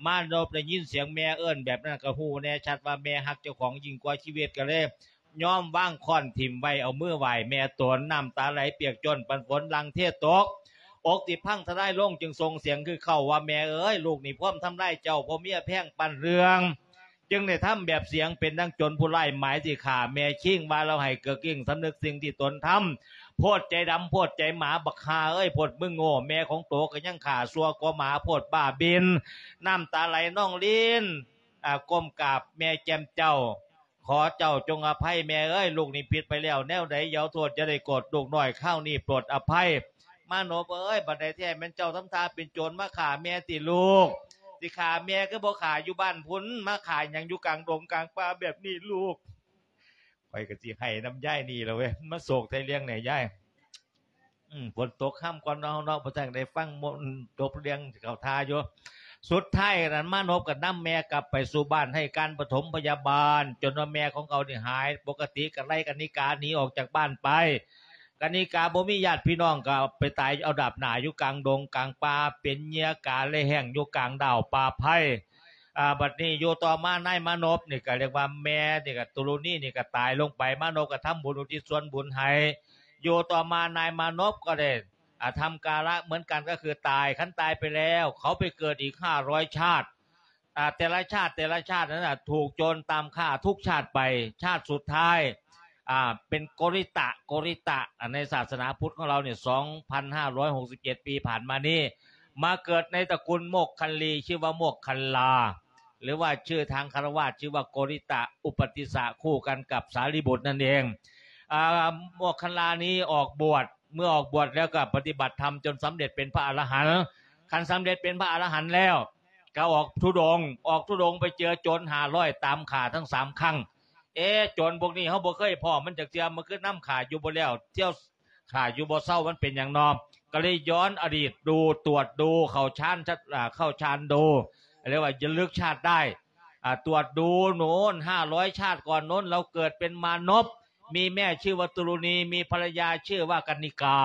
ມານົບໄດ້ຍິນສຽງແມ່ເອີ້ນແບບນັ້ນ ກໍຮູ້ແນ່ຊັດວ່າແມ່ຮັກເຈົ້າຂອງຍິ່ງກວ່າຊີວິດ ກໍເລີຍ ຍອມວາງຄ້ອນຖິ້ມໄວ້ ເອົາມືໄຫວ້ແມ່ຕົນ ນ້ຳຕາໄຫຼປຽກໂຈນ ປານຝົນຫຼັ່ງເທຕົກ. ອົກທີ່ພັງທະລາຍລົງ ຈຶ່ງສົ່ງສຽງຄືເຄົ້າວ່າ ແມ່ເອີຍ ລູກນີ້ພວມທຳລາຍເຈົ້າ ເພາະເມຍແພງປັນເລື່ອງ ຈຶ່ງໄດ້ທຳແບບສຽງເປັນດັ່ງໂຈນຜູ້ຮ້າຍໝາຍຊິຂ້າແມ່ ຄີງວ່າລາວໃຫ້ເກີກອິ້ງ ສຳນຶກສິ່ງທີ່ຕົນທຳ. ໂພດໃຈດຳ ໂພດໃຈໝາ ບັກຫ່າເອີຍ ໂພດມຶງໂງ່ ແມ່ຂອງໂຕກໍຍັງຂ້າຊົ່ວກວ່າໝາ ໂພດບ້າບິນ. ນ້ຳຕາໄຫຼນອງລິນ ອາ ກົ້ມກາບແມ່ແຈ່ມເຈົ້າ ຂໍເຈົ້າຈົ່ງອະໄພແມ່ເອີຍ ລູກນີ້ຜິດໄປແລ້ວແນວໃດ ຢ່າໂທດຢ່າໄດ້ໂກດ ລູກນ້ອຍຄາວນີ້ໂປດອະໄພ. ມານົບເອີຍ ບັດໃດແທ້ແມ່ນເຈົ້າທຳທ່າເປັນໂຈນມາຂ້າແມ່ຕິລູກ? ຊິຂ້າແມ່ຄືບໍ່ຂ້າຢູ່ບ້ານພຸ້ນ ມາຂ້າຫຍັງຢູ່ກາງດົງກາງປ່າແບບນີ້ລູກ? ຂ້ອຍກໍຊິໄຫ້ນຳຍາຍນີ້ລະເວີຍ ມາໂສກໄທເລື່ອງແດ່ຍາຍ. ອືມ ຝົນຕົກຄ່ຳກ່ອນເນາະ ເຮົາເນາະ ບໍ່ທັນໄດ້ຟັງ ຈົບເລື່ອງເຂົ້າທ່າຢູ່. ສຸດທ້າຍນັ້ນ ມານົບກໍນຳແມ່ກັບໄປສູ່ບ້ານ ໃຫ້ການປະຖົມພະຍາບານ ຈົນວ່າແມ່ຂອງເຂົານີ້ຫາຍປົກກະຕິ ກໍໄລ່ກະນິກາໜີອອກຈາກບ້ານໄປ. ກະນິກາບໍ່ມີຍາດພີ່ນ້ອງ ກໍໄປຕາຍເອົາດາບໜ້າຢູ່ກາງດົງກາງປ່າ ເປັນເຫຍື່ອກາແລະແຫ້ງຢູ່ກາງດາວປ່າໄຜ່. ອາ ບັດນີ້ຢູ່ຕໍ່ມາ ນາຍມານົບນີ້ ກໍລຽກວ່າແມ່ນີ້ ກໍຕຸລຸນີນີ້ ກໍຕາຍລົງໄປ. ມານົບກໍທຳບຸນອຸທິດສ່ວນບຸນໃຫ້. ຢູ່ຕໍ່ມານາຍມານົບກໍໄດ້ ອາ ທຳກາລະເໝືອນກັນ ກໍຄືຕາຍ. ຄັນຕາຍໄປແລ້ວ ເຂົາໄປເກີດອີກຫ້າຮ້ອຍຊາດ. ອາ ແຕ່ລະຊາດ ແຕ່ລະຊາດນັ້ນນະ ຖືກໂຈນຕາມຂ້າທຸກຊາດໄປ. ຊາດສຸດທ້າຍ ອາ ເປັນໂກຣິຕະ ໂກຣິຕະ ອາ ໃນສາສະໜາພຸດຂອງລາວນີ້ ສອງພັນຫ້າຮ້ອຍຫົກສິບເຈັດປີຜ່ານມານີ້ ມາເກີດໃນຕະກຸນໂມກຄັນລີ ຊື່ວ່າໂມກຄັນລາ ຫຼືວ່າຊື່ທາງຄາລະວາດ ຊື່ວ່າໂກຣິຕະ ອຸປະຕິສະ ຄູ່ກັນກັບສາລີບຸດນັ້ນເອງ. ອາ ໂມກຄັນລານີ້ອອກບວດ ເມື່ອອອກບວດແລ້ວກໍປະຕິບັດທຳຈົນສຳເລັດເປັນພະອະລະຫັນ. ຄັນສຳເລັດເປັນພະອະລະຫັນແລ້ວ ກໍອອກທຸດົງ ອອກທຸດົງໄປເຈີໂຈນຫ້າຮ້ອຍ ຕາມຂ້າທັງສາມຄັ້ງ. ເອ ໂຈນພວກນີ້ເຮົາບໍ່ເຄີຍພໍ້ມັນຈັກເທື່ອ ມັນຄືນຳຂ້າຢູ່ບໍ່ແລ້ວ ທ່ຽວຂ້າຢູ່ບໍ່ເຊົາ ມັນເປັນຫຍັງນໍ? ກໍເລີຍຍ້ອນອະດີດດູ ຕວດດູ ເຂົ້າຊານ ອາ ເຂົ້າຊານດູ ເອີ້ນວ່າລະລຶກຊາດໄດ້ ອາ ຕວດດູໂນ້ນ ຫ້າຮ້ອຍຊາດກ່ອນໂນ້ນ ລາວເກີດເປັນມານົບ ມີແມ່ຊື່ວ່າຕຸລຸນີ ມີພັນລະຍາຊື່ວ່າກັນນິກາ.